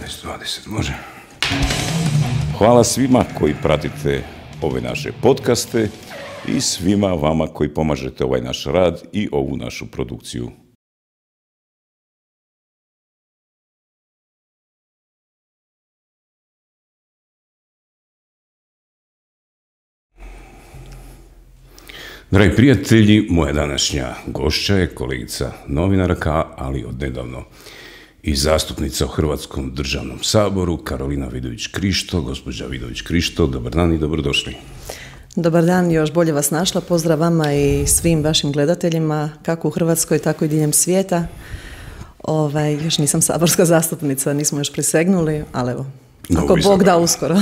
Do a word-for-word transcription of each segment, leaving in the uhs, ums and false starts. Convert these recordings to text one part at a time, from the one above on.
devetnaest dvadeset, može. Hvala svima koji pratite ove naše podcaste i svima vama koji pomažete ovaj naš rad i ovu našu produkciju. Dragi prijatelji, moja današnja gošća je kolegica novinarka, ali odnedavno i zastupnica u Hrvatskom državnom saboru, Karolina Vidović-Krišto. Gospođa Vidović-Krišto, dobar dan i dobrodošli. Dobar dan, još bolje vas našla. Pozdrav vama i svim vašim gledateljima, kako u Hrvatskoj, tako i diljem svijeta. Ovaj, još nisam saborska zastupnica, nismo još prisegnuli, ali evo, ako Bog da uskoro.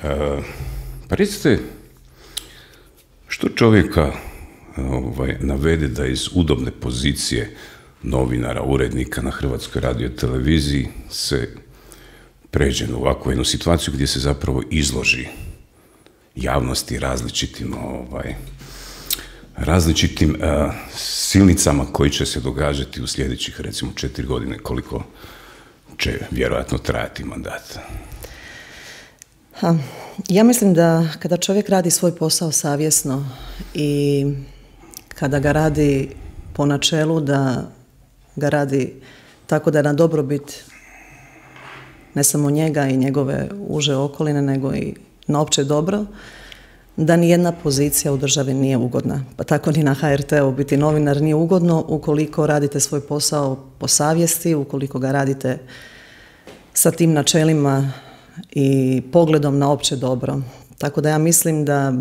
e, pa recite, što čovjeka ovaj, navede da iz udobne pozicije novinara, urednika na Hrvatskoj radioteleviziji se pređe na ovakvu jednu situaciju gdje se zapravo izloži javnosti različitim ovaj, različitim uh, silnicama koji će se događati u sljedećih recimo četiri godine, koliko će vjerojatno trajati mandat. Ha, ja mislim da kada čovjek radi svoj posao savjesno i kada ga radi po načelu da ga radi tako da je na dobrobit ne samo njega i njegove uže okoline, nego i na opće dobro, da nijedna pozicija u državi nije ugodna. Pa tako ni na ha er te u biti novinar nije ugodno ukoliko radite svoj posao po savjesti, ukoliko ga radite sa tim načelima i pogledom na opće dobro. Tako da ja mislim da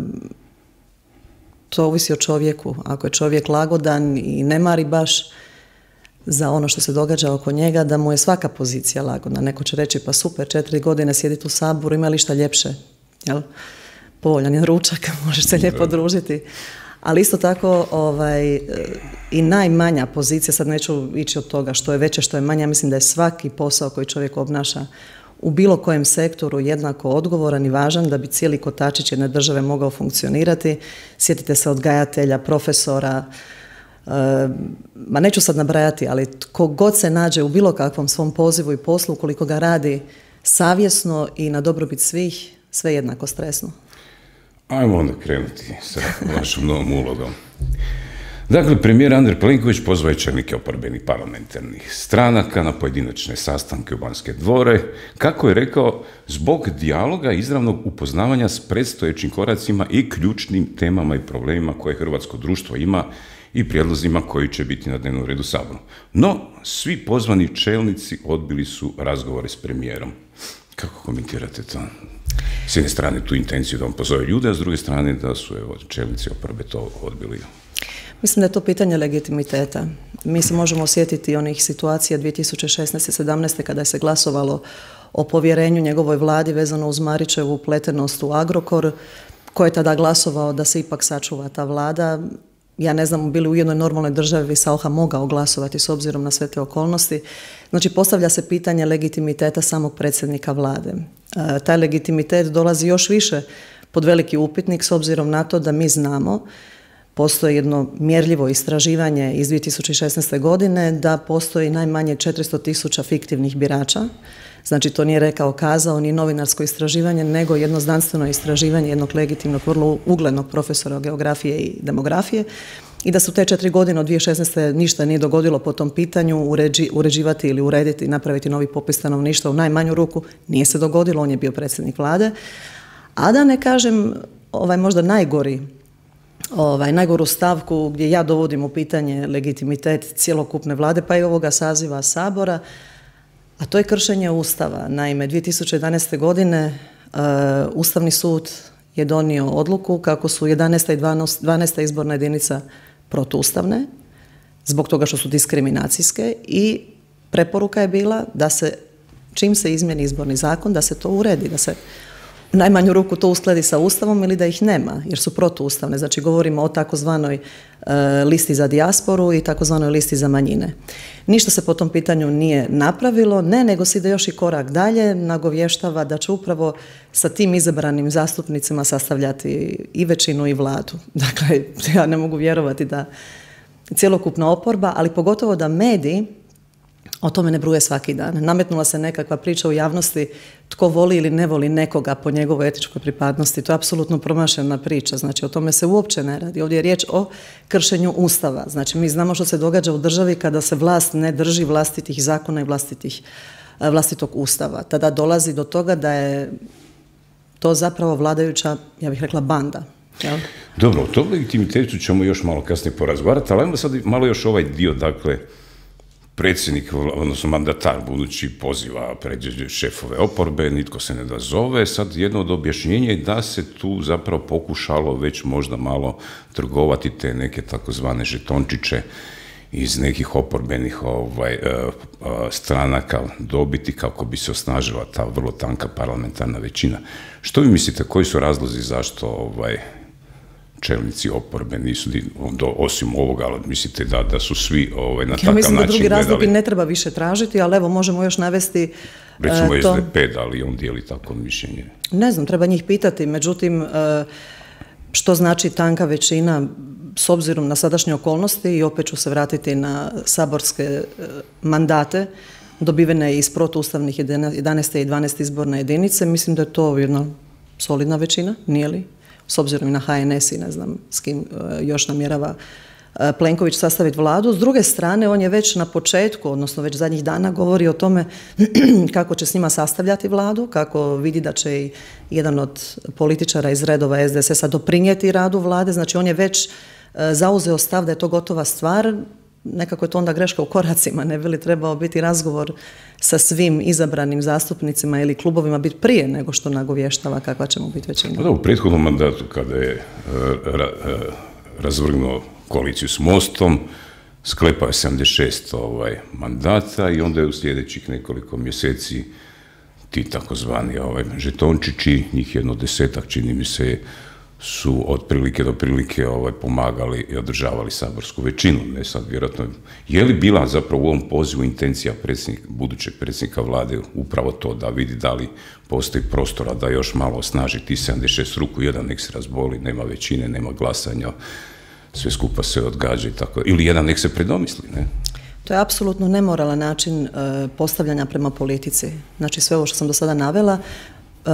to ovisi o čovjeku. Ako je čovjek lagodan i ne mari baš za ono što se događa oko njega, da mu je svaka pozicija lagodna. Neko će reći, pa super, četiri godine sjediti u Saboru, ima li šta ljepše? Jel? Povoljan je ručak, možeš se lijepo družiti. Ali isto tako ovaj, i najmanja pozicija, sad neću ići od toga što je veće, što je manje, ja mislim da je svaki posao koji čovjek obnaša u bilo kojem sektoru jednako odgovoran i važan da bi cijeli kotačić jedne države mogao funkcionirati. Sjetite se odgajatelja, profesora, e, ma neću sad nabrajati, ali tko god se nađe u bilo kakvom svom pozivu i poslu, ukoliko ga radi savjesno i na dobrobit svih, sve jednako stresno. Ajmo onda krenuti sa vašom novom ulogom. Dakle, premijer Andrej Plenković pozvao je čelnike oporbenih parlamentarnih stranaka na pojedinačne sastanke u Banske dvore, kako je rekao, zbog dijaloga i izravnog upoznavanja s predstojećim koracima i ključnim temama i problemima koje hrvatsko društvo ima i prijedlozima koji će biti na dnevnom redu Saboru. No, svi pozvani čelnici odbili su razgovore s premijerom. Kako komentirate to? S jedne strane tu intenciju da on pozove ljude, a s druge strane da su evo, čelnici oporbe to odbili. Mislim da je to pitanje legitimiteta. Mi se možemo osjetiti onih situacija dvije tisuće šesnaeste sedamnaeste kada je se glasovalo o povjerenju njegovoj vladi vezano uz Marićevu upletenost u Agrokor, ko je tada glasovao da se ipak sačuva ta vlada. Ja ne znam, bili u jednoj normalnoj državi Saucha mogao glasovati s obzirom na sve te okolnosti. Znači, postavlja se pitanje legitimiteta samog predsjednika vlade. E, taj legitimitet dolazi još više pod veliki upitnik s obzirom na to da mi znamo, postoji jedno mjerljivo istraživanje iz dvije tisuće šesnaeste godine da postoji najmanje četiristo tisuća fiktivnih birača. Znači, to nije rekao kazao ni novinarsko istraživanje, nego jedno znanstveno istraživanje jednog legitimnog, vrlo uglednog profesora geografije i demografije. I da su te četiri godine od dvije tisuće šesnaeste ništa nije dogodilo po tom pitanju, uređi, uređivati ili urediti, napraviti novi popis stanovništva u najmanju ruku, nije se dogodilo, on je bio predsjednik vlade. A da ne kažem, ovaj možda najgori Ovaj, najgoru stavku gdje ja dovodim u pitanje legitimitet cjelokupne vlade, pa i ovoga saziva Sabora, a to je kršenje Ustava. Naime, dvije tisuće jedanaeste godine uh, Ustavni sud je donio odluku kako su jedanaesta i dvanaesta izborna jedinica protuustavne, zbog toga što su diskriminacijske, i preporuka je bila da se, čim se izmijeni izborni zakon, da se to uredi, da se u najmanju ruku to uskladi sa Ustavom ili da ih nema, jer su protuustavne. Znači, govorimo o takozvanoj e, listi za dijasporu i takozvanoj listi za manjine. Ništa se po tom pitanju nije napravilo, ne, nego se ide još i korak dalje, nagovještava da će upravo sa tim izabranim zastupnicima sastavljati i većinu i vladu. Dakle, ja ne mogu vjerovati da cjelokupna oporba, ali pogotovo da mediji o tome ne bruje svaki dan. Nametnula se nekakva priča u javnosti tko voli ili ne voli nekoga po njegovoj etičkoj pripadnosti. To je apsolutno promašena priča. Znači, o tome se uopće ne radi. Ovdje je riječ o kršenju Ustava. Znači, mi znamo što se događa u državi kada se vlast ne drži vlastitih zakona i vlastitih, vlastitog Ustava. Tada dolazi do toga da je to zapravo vladajuća, ja bih rekla, banda. Jel? Dobro, o tom legitimitetu ćemo još malo kasnije porazgovarati, ali ajmo sad malo još ovaj dio, dakle, predsjednik, odnosno mandatar budući poziva pred šefove oporbe, nitko se ne da zove. Sad jedno od objašnjenja je da se tu zapravo pokušalo već možda malo trgovati te neke takozvane žetončiće iz nekih oporbenih ovaj, stranaka dobiti kako bi se osnažila ta vrlo tanka parlamentarna većina. Što vi mislite, koji su razlozi zašto ovaj, čelnici oporbe nisu, do, osim ovoga, ali mislite da, da su svi ovaj, na takav način gledali? Ja mislim da drugi razlog ne treba više tražiti, ali evo možemo još navesti recimo uh, to... S D P, da li on dijeli tako mišljenje? Ne znam, treba njih pitati, međutim, uh, što znači tanka većina s obzirom na sadašnje okolnosti, i opet ću se vratiti na saborske uh, mandate, dobivene iz protuustavnih jedanaeste i dvanaeste izborne jedinice, mislim da je to jedna solidna većina, nije li? S obzirom i na H N S i ne znam s kim još namjerava Plenković sastaviti vladu. S druge strane, on je već na početku, odnosno već zadnjih dana govori o tome kako će s njima sastavljati vladu, kako vidi da će i jedan od političara iz redova S D S S-a doprinijeti radu vlade. Znači, on je već zauzeo stav da je to gotova stvar. Nekako je to onda greška u koracima, ne bi li trebao biti razgovor sa svim izabranim zastupnicima ili klubovima biti prije nego što nagovještava kakva će mu biti većina. Da, u prethodnom mandatu kada je ra, razvrgnuo koaliciju s Mostom, sklepao je sedamdeset šest ovaj, mandata i onda je u sljedećih nekoliko mjeseci ti takozvani ovaj, žetončići, njih jedno desetak, čini mi se, su od prilike do prilike ovaj, pomagali i održavali saborsku većinu. Ne sad, vjerojatno, je li bila zapravo u ovom pozivu intencija predsjednik, budućeg predsjednika vlade upravo to da vidi da li postoji prostora da još malo osnaži ti sedamdeset šest ruku, jedan nek se razboli, nema većine, nema glasanja, sve skupa se odgađa i tako, ili jedan nek se predomisli, ne? To je apsolutno nemoralan način uh, postavljanja prema politici. Znači, sve ovo što sam do sada navela, Uh,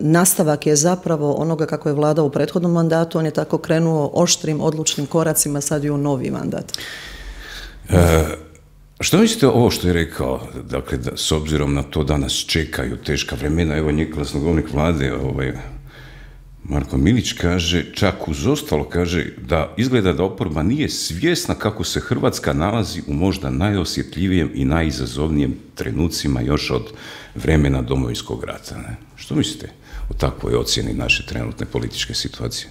nastavak je zapravo onoga kako je vladao u prethodnom mandatu, on je tako krenuo oštrim, odlučnim koracima sad i u novi mandat. E, što mislite ovo što je rekao, dakle, da, s obzirom na to da nas čekaju teška vremena, evo njegov glasnogovornik vlade, ovaj, Marko Milić kaže, čak uz ostalo kaže da izgleda da oporba nije svjesna kako se Hrvatska nalazi u možda najosjetljivijem i najizazovnijem trenucima još od vremena Domovinskog rata. Ne? Što mislite o takvoj ocjeni naše trenutne političke situacije?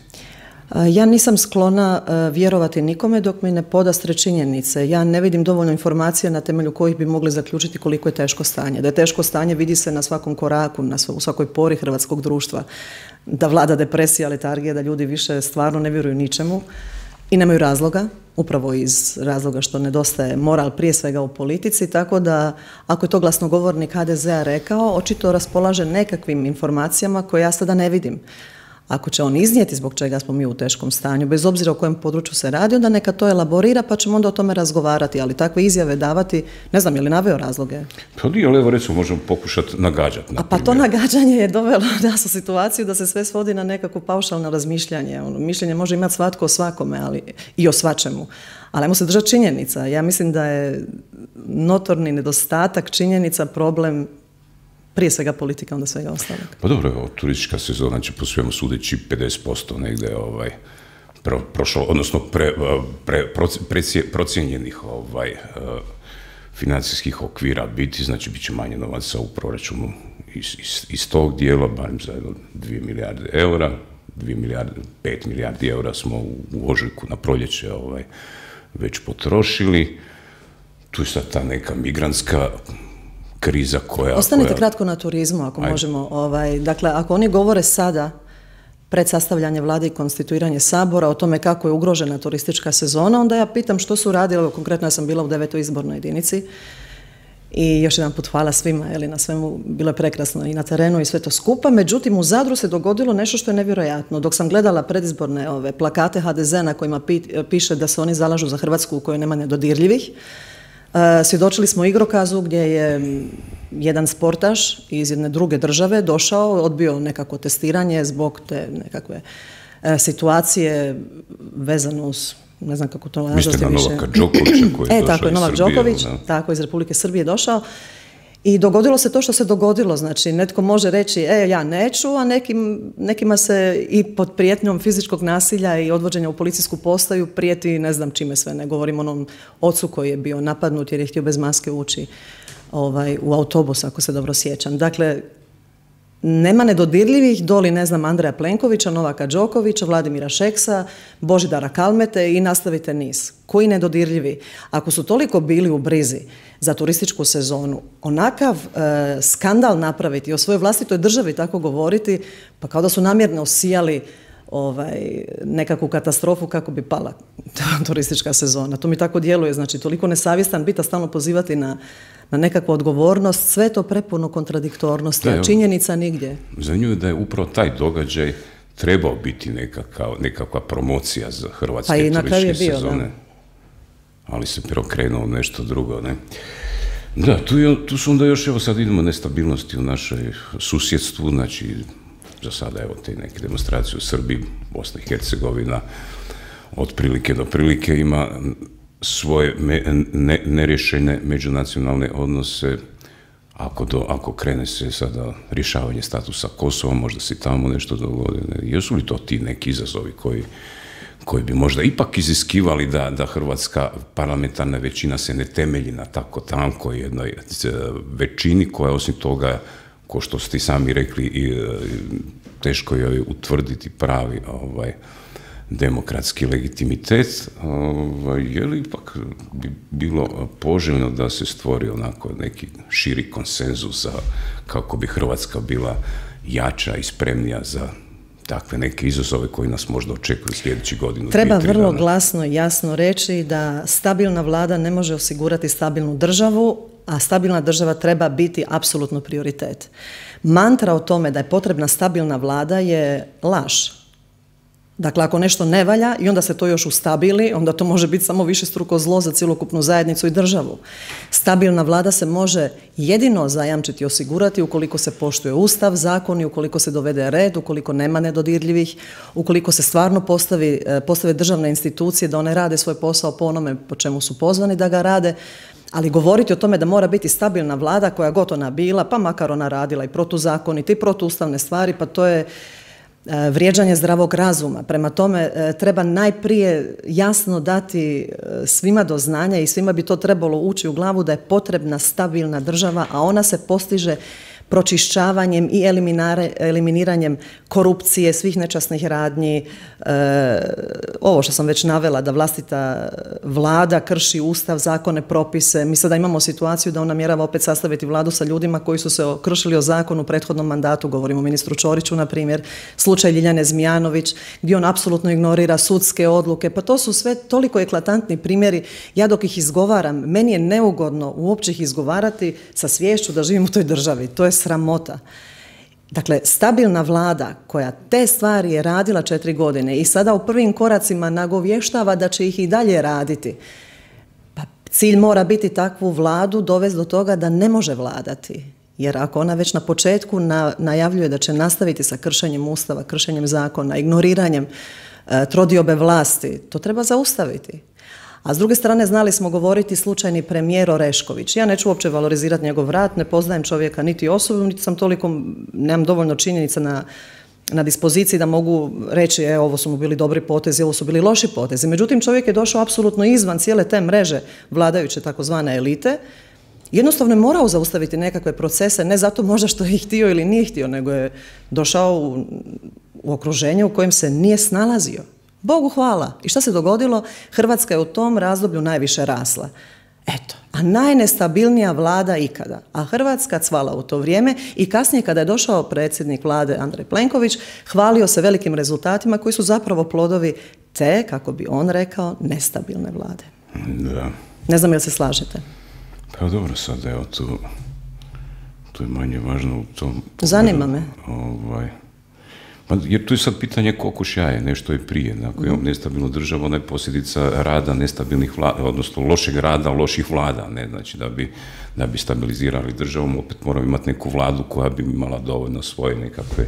Ja nisam sklona vjerovati nikome dok mi ne podastre činjenice. Ja ne vidim dovoljno informacija na temelju kojih bi mogli zaključiti koliko je teško stanje. Da je teško stanje vidi se na svakom koraku, na u svakoj pori hrvatskog društva. Da vlada depresija, letargija, da ljudi više stvarno ne vjeruju ničemu i nemaju razloga, upravo iz razloga što nedostaje moral prije svega u politici, tako da ako je to glasnogovornik H D Z-a rekao, očito raspolaže nekakvim informacijama koje ja sada ne vidim. Ako će on iznijeti zbog čega smo mi u teškom stanju, bez obzira o kojem području se radi, onda neka to elaborira pa ćemo onda o tome razgovarati, ali takve izjave davati, ne znam, je li naveo razloge? Pa nije, ali evo recimo možemo pokušati nagađati. A pa to nagađanje je dovelo nas u situaciju da se sve svodi na nekako paušalno razmišljanje. Ono, mišljenje može imati svatko o svakome, ali i o svačemu. Ali ajmo se držati činjenica. Ja mislim da je notorni nedostatak činjenica problem prije svega politika, onda svega ostalog. Pa dobro, evo, turistička sezona će po svemu sudeći pedeset posto negdje ovaj, pro, prošlo, odnosno pre, pre, pre, procijenjenih ovaj, financijskih okvira biti, znači bit će manje novaca u proračunu iz, iz, iz tog dijela, barem za dvije milijarde eura, dvije milijarde, pet milijardi eura smo u, u ožujku na proljeće ovaj, već potrošili. Tu je sad ta neka migrantska kriza koja... Ostanite koja... kratko na turizmu, ako Ajde. možemo. Ovaj, dakle, ako oni govore sada, pred sastavljanje vlade i konstituiranje sabora, o tome kako je ugrožena turistička sezona, onda ja pitam što su radili, konkretno ja sam bila u devetoj izbornoj jedinici i još jedan put hvala svima, jeli, na svemu, bilo je prekrasno i na terenu i sve to skupa, međutim u Zadru se dogodilo nešto što je nevjerojatno. Dok sam gledala predizborne ove plakate H D Z na kojima pi, piše da se oni zalažu za Hrvatsku u kojoj nema nedodirljivih, Svjedočili smo igrokazu gdje je jedan sportaš iz jedne druge države došao, odbio nekako testiranje zbog te nekakve situacije vezano uz, ne znam kako to nazvati više. Mislite na Novaka Đokovića koji je e, došao tako je, iz Novak Srbije. Đoković, tako, iz Republike Srbije došao. I dogodilo se to što se dogodilo, znači netko može reći e ja neću, a nekim, nekima se i pod prijetnjom fizičkog nasilja i odvođenja u policijsku postaju prijeti ne znam čime sve, ne govorim onom ocu koji je bio napadnut jer je htio bez maske ući ovaj, u autobus, ako se dobro sjećam. Dakle, nema nedodirljivih doli, ne znam, Andreja Plenkovića, Novaka Đokovića, Vladimira Šeksa, Božidara Kalmete i nastavite niz. Koji nedodirljivi? Ako su toliko bili u brizi za turističku sezonu, onakav e, skandal napraviti, o svojoj vlastitoj državi tako govoriti, pa kao da su namjerno osijali ovaj, nekakvu katastrofu kako bi pala turistička sezona. To mi tako djeluje, znači toliko nesavjestan biti, a stalno pozivati na na nekakvu odgovornost, sve to prepuno kontradiktornosti, a činjenica nigdje. Zanimljivo je da je upravo taj događaj trebao biti nekakav, nekakva promocija za hrvatske pa turističke bio, sezone. Da. Ali se preokrenuo nešto drugo, ne? Da, tu, je, tu su onda još, evo sad idemo nestabilnosti u našoj susjedstvu, znači za sada evo te neke demonstracije u Srbiji, Bosna i Hercegovina, od prilike do prilike ima svoje me, ne, nerješene međunacionalne odnose. Ako, do, ako krene se sada rješavanje statusa Kosova, možda se tamo nešto dogodi. Jesu li to ti neki izazovi koji, koji bi možda ipak iziskivali da, da hrvatska parlamentarna većina se ne temelji na tako tankoj jednoj većini koja osim toga, ko što ste sami rekli, i, teško je utvrditi pravi ovaj, demokratski legitimitet, ovaj, je li ipak bi bilo poželjno da se stvori onako neki širi konsenzus za kako bi Hrvatska bila jača i spremnija za takve neke izazove koji nas možda očekuju sljedećih godinu. Treba dvije, vrlo dana. glasno i jasno reći da stabilna vlada ne može osigurati stabilnu državu, a stabilna država treba biti apsolutno prioritet. Mantra o tome da je potrebna stabilna vlada je laž. Dakle, ako nešto ne valja i onda se to još ustabili, onda to može biti samo višestruko zlo za cjelokupnu zajednicu i državu. Stabilna vlada se može jedino zajamčiti i osigurati ukoliko se poštuje Ustav, zakoni, ukoliko se dovede red, ukoliko nema nedodirljivih, ukoliko se stvarno postavi, postave državne institucije da one rade svoj posao po onome po čemu su pozvani da ga rade, ali govoriti o tome da mora biti stabilna vlada koja god ona bila, pa makar ona radila i protuzakonite i protuustavne stvari, pa to je vrijeđanje zdravog razuma. Prema tome, treba najprije jasno dati svima do znanja i svima bi to trebalo ući u glavu da je potrebna stabilna država, a ona se postiže pročišćavanjem i eliminiranjem korupcije, svih nečasnih radnji, e, ovo što sam već navela, da vlastita vlada krši Ustav, zakone, propise. Mi sada imamo situaciju da on namjerava opet sastaviti vladu sa ljudima koji su se kršili o zakonu u prethodnom mandatu, govorimo o ministru Ćoriću, na primjer, slučaj Ljiljane Zmijanović, gdje on apsolutno ignorira sudske odluke, pa to su sve toliko eklatantni primjeri. Ja dok ih izgovaram, meni je neugodno uopće ih izgovarati sa sviješću da živim u toj državi. To je sramota. Dakle, stabilna vlada koja te stvari je radila četiri godine i sada u prvim koracima nagovještava da će ih i dalje raditi. Pa cilj mora biti takvu vladu dovesti do toga da ne može vladati. Jer ako ona već na početku na, najavljuje da će nastaviti sa kršenjem Ustava, kršenjem zakona, ignoriranjem e, trodiobe vlasti, to treba zaustaviti. A s druge strane, znali smo govoriti slučajni premijer Orešković. Ja neću uopće valorizirati njegov rad, ne poznajem čovjeka niti osobu, niti sam toliko, nemam dovoljno činjenica na, na dispoziciji da mogu reći, e, ovo su mu bili dobri potezi, ovo su bili loši potezi. Međutim, čovjek je došao apsolutno izvan cijele te mreže vladajuće takozvane elite. Jednostavno je morao zaustaviti nekakve procese, ne zato možda što je htio ili nije htio, nego je došao u, u okruženje u kojem se nije snalazio. Bogu hvala. I šta se dogodilo? Hrvatska je u tom razdoblju najviše rasla. Eto, a najnestabilnija vlada ikada. A Hrvatska cvala u to vrijeme i kasnije kada je došao predsjednik vlade Andrej Plenković, hvalio se velikim rezultatima koji su zapravo plodovi te, kako bi on rekao, nestabilne vlade. Da. Ne znam jel se slažete? Pa dobro, sad evo tu, tu je manje važno u tom pogledu. Zanima me. Ovaj, Pa, jer tu je sad pitanje kokoš jaje, nešto je prije. Ako imamo nestabilnu državu, ona je posljedica rada nestabilnih vlada, odnosno lošeg rada, loših vlada. Ne? Znači, da bi, da bi stabilizirali državu, opet moramo imati neku vladu koja bi imala dovoljno svoje nekakve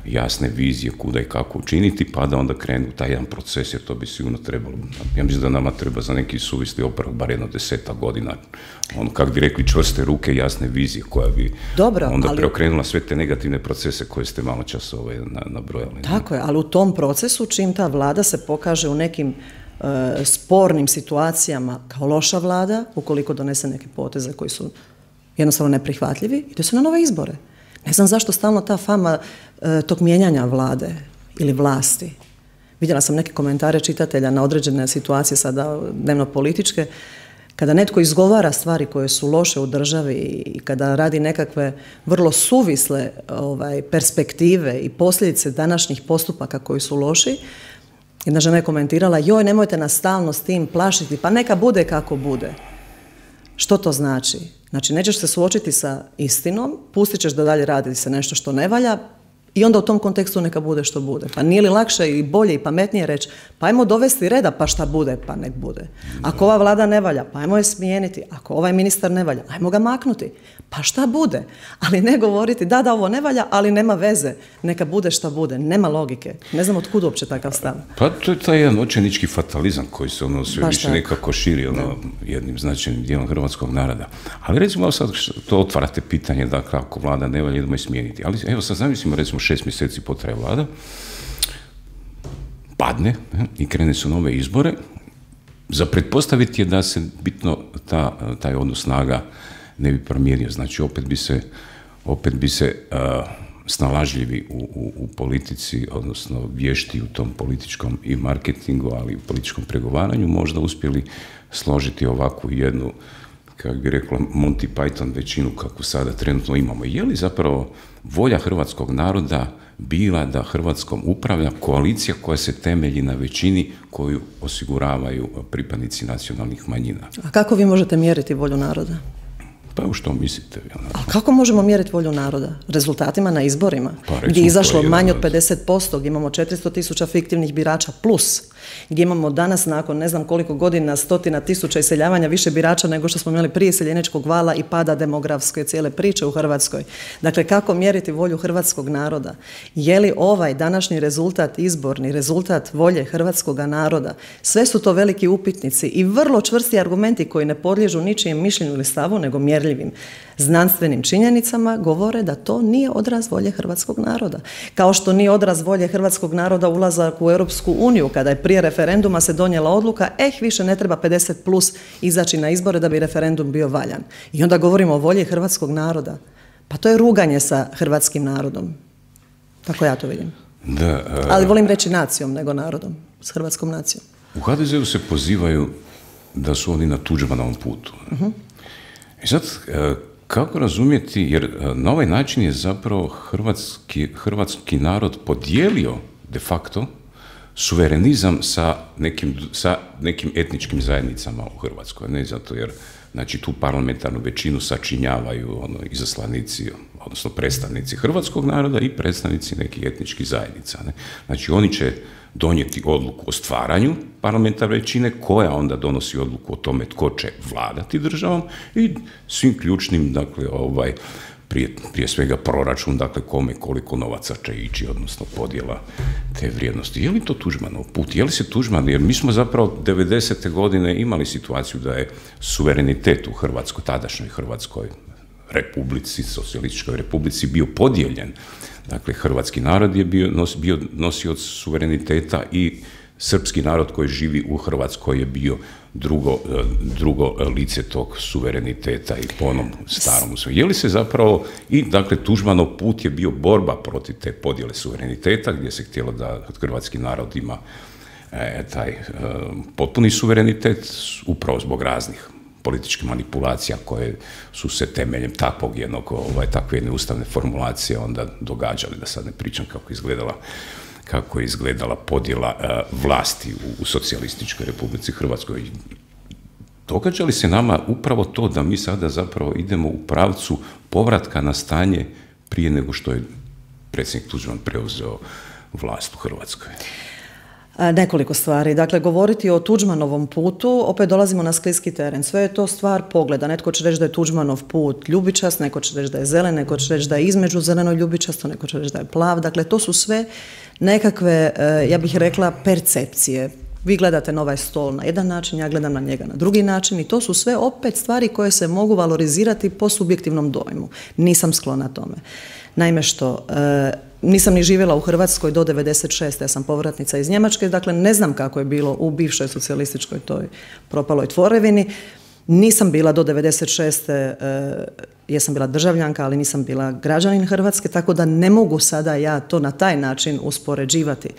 jasne vizije kuda i kako učiniti, pa da onda krenu taj jedan proces, jer to bi sigurno trebalo. Ja mislim da nama treba za neki suvisli oporavak bar jedno deseta godina. Ono, kako bi rekli, čvrste ruke, jasne vizije koja bi Dobro, onda ali... preokrenula sve te negativne procese koje ste malo čas ovaj, nabrojali. Tako je, ali u tom procesu, čim ta vlada se pokaže u nekim uh, spornim situacijama kao loša vlada, ukoliko donese neke poteze koji su jednostavno neprihvatljivi, ide se na nove izbore. Ne znam zašto stalno ta fama e, tog mijenjanja vlade ili vlasti. Vidjela sam neke komentare čitatelja na određene situacije sada dnevno političke, kada netko izgovara stvari koje su loše u državi i kada radi nekakve vrlo suvisle ovaj, perspektive i posljedice današnjih postupaka koji su loši, jedna žena je komentirala, joj, nemojte nas stalno s tim plašiti, pa neka bude kako bude. Što to znači? Znači, nećeš se suočiti sa istinom, pustit ćeš da dalje radi se nešto što ne valja i onda u tom kontekstu neka bude što bude. Pa nije li lakše i bolje i pametnije reći, pa ajmo dovesti reda pa šta bude, pa nek bude. Ako ova vlada ne valja, pa ajmo je smijeniti. Ako ovaj ministar ne valja, ajmo ga maknuti. Pa šta bude? Ali ne govoriti, da, da, ovo ne valja, ali nema veze. Neka bude šta bude. Nema logike. Ne znam od kud uopće takav stav. Pa to je taj jedan očajnički fatalizam koji se ono sve Baš više tako. nekako širi ono, jednim značajnim dijelom hrvatskog naroda. Ali recimo sad to otvarate pitanje da kako vlada ne valja, idemo je smijeniti. Ali evo sad zamislimo recimo šest mjeseci potraje vlada, padne i krene su nove izbore. Za pretpostaviti je da se bitno ta, taj odnos snaga ne bi promijenio. Znači, opet bi se, opet bi se uh, snalažljivi u, u, u politici, odnosno vješti u tom političkom i marketingu, ali i u političkom pregovaranju, možda uspjeli složiti ovakvu jednu, kako bi rekla, Monty Python većinu kakvu sada trenutno imamo. Je li zapravo volja hrvatskog naroda bila da Hrvatskom upravlja koalicija koja se temelji na većini koju osiguravaju pripadnici nacionalnih manjina? A kako vi možete mjeriti volju naroda? Pa u što mislite? A kako možemo mjeriti volju naroda? Rezultatima na izborima, pa, gdje je izašlo manje od pedeset posto, gdje imamo četiristo tisuća fiktivnih birača plus, gdje imamo danas nakon ne znam koliko godina stotina tisuća iseljavanja više birača nego što smo imali prije iseljeničkog vala i pada demografske cijele priče u Hrvatskoj. Dakle, kako mjeriti volju hrvatskog naroda? Je li ovaj današnji rezultat izborni, rezultat volje hrvatskog naroda? Sve su to veliki upitnici i vrlo čvrsti argumenti koji ne podliježu ničijem mišljenju ili stavu, nego mjerljivim znanstvenim činjenicama govore da to nije odraz volje hrvatskog naroda. Kao što nije odraz volje hrvatskog naroda ulazak u Europsku uniju, kada je prije referenduma se donijela odluka, eh, više ne treba pedeset plus izaći na izbore da bi referendum bio valjan. I onda govorimo o volji hrvatskog naroda. Pa to je ruganje sa hrvatskim narodom. Tako ja to vidim. Da, uh... Ali volim reći nacijom nego narodom, s hrvatskom nacijom. U ha de zeu se pozivaju da su oni na Tuđmanovom putu. Uh-huh. I sad, kako razumjeti, jer na ovaj način je zapravo hrvatski, hrvatski narod podijelio de facto suverenizam sa nekim, sa nekim etničkim zajednicama u Hrvatskoj. Ne zato jer, znači, tu parlamentarnu većinu sačinjavaju ono, izaslanici, odnosno predstavnici hrvatskog naroda i predstavnici nekih etničkih zajednica. Ne? Znači, oni će donijeti odluku o stvaranju parlamentarne većine, koja onda donosi odluku o tome tko će vladati državom i svim ključnim, dakle, ovaj, prije, prije svega proračun, dakle, kome koliko novaca će ići, odnosno podjela te vrijednosti. Je li to Tuđmanov put? Je li se Tuđman, jer mi smo zapravo devedesete godine imali situaciju da je suverenitet u Hrvatskoj, tadašnjoj Hrvatskoj republici, socijalističkoj republici, bio podijeljen. Dakle, hrvatski narod je bio, nos, bio nosioc suvereniteta i srpski narod koji živi u Hrvatskoj je bio drugo, drugo lice tog suvereniteta i po onom starom. Je li se zapravo, i dakle, Tuđmanov put je bio borba protiv te podjele suvereniteta, gdje se htjelo da hrvatski narod ima e, taj e, potpuni suverenitet, upravo zbog raznih političke manipulacija koje su se temeljem takvog jednog, ovaj, takve jedne ustavne formulacije onda događale, da sad ne pričam kako izgledala, kako je izgledala podjela uh, vlasti u, u socijalističkoj Republici Hrvatskoj. Događa li se nama upravo to da mi sada zapravo idemo u pravcu povratka na stanje prije nego što je predsjednik Tuđman preuzeo vlast u Hrvatskoj? Nekoliko stvari. Dakle, govoriti o Tuđmanovom putu, opet dolazimo na skliski teren. Sve je to stvar pogleda. Netko će reći da je Tuđmanov put ljubičast, neko će reći da je zelen, neko će reći da je između zeleno i ljubičasto, neko će reći da je plav. Dakle, to su sve nekakve, ja bih rekla, percepcije. Vi gledate na ovaj stol na jedan način, ja gledam na njega na drugi način i to su sve opet stvari koje se mogu valorizirati po subjektivnom dojmu. Nisam sklona tome. Naime što, e, nisam ni živjela u Hrvatskoj do devedeset šeste. Ja sam povratnica iz Njemačke, dakle ne znam kako je bilo u bivšoj socijalističkoj toj propaloj tvorevini. Nisam bila do devedeset šeste. E, jesam bila državljanka, ali nisam bila građanin Hrvatske, tako da ne mogu sada ja to na taj način uspoređivati.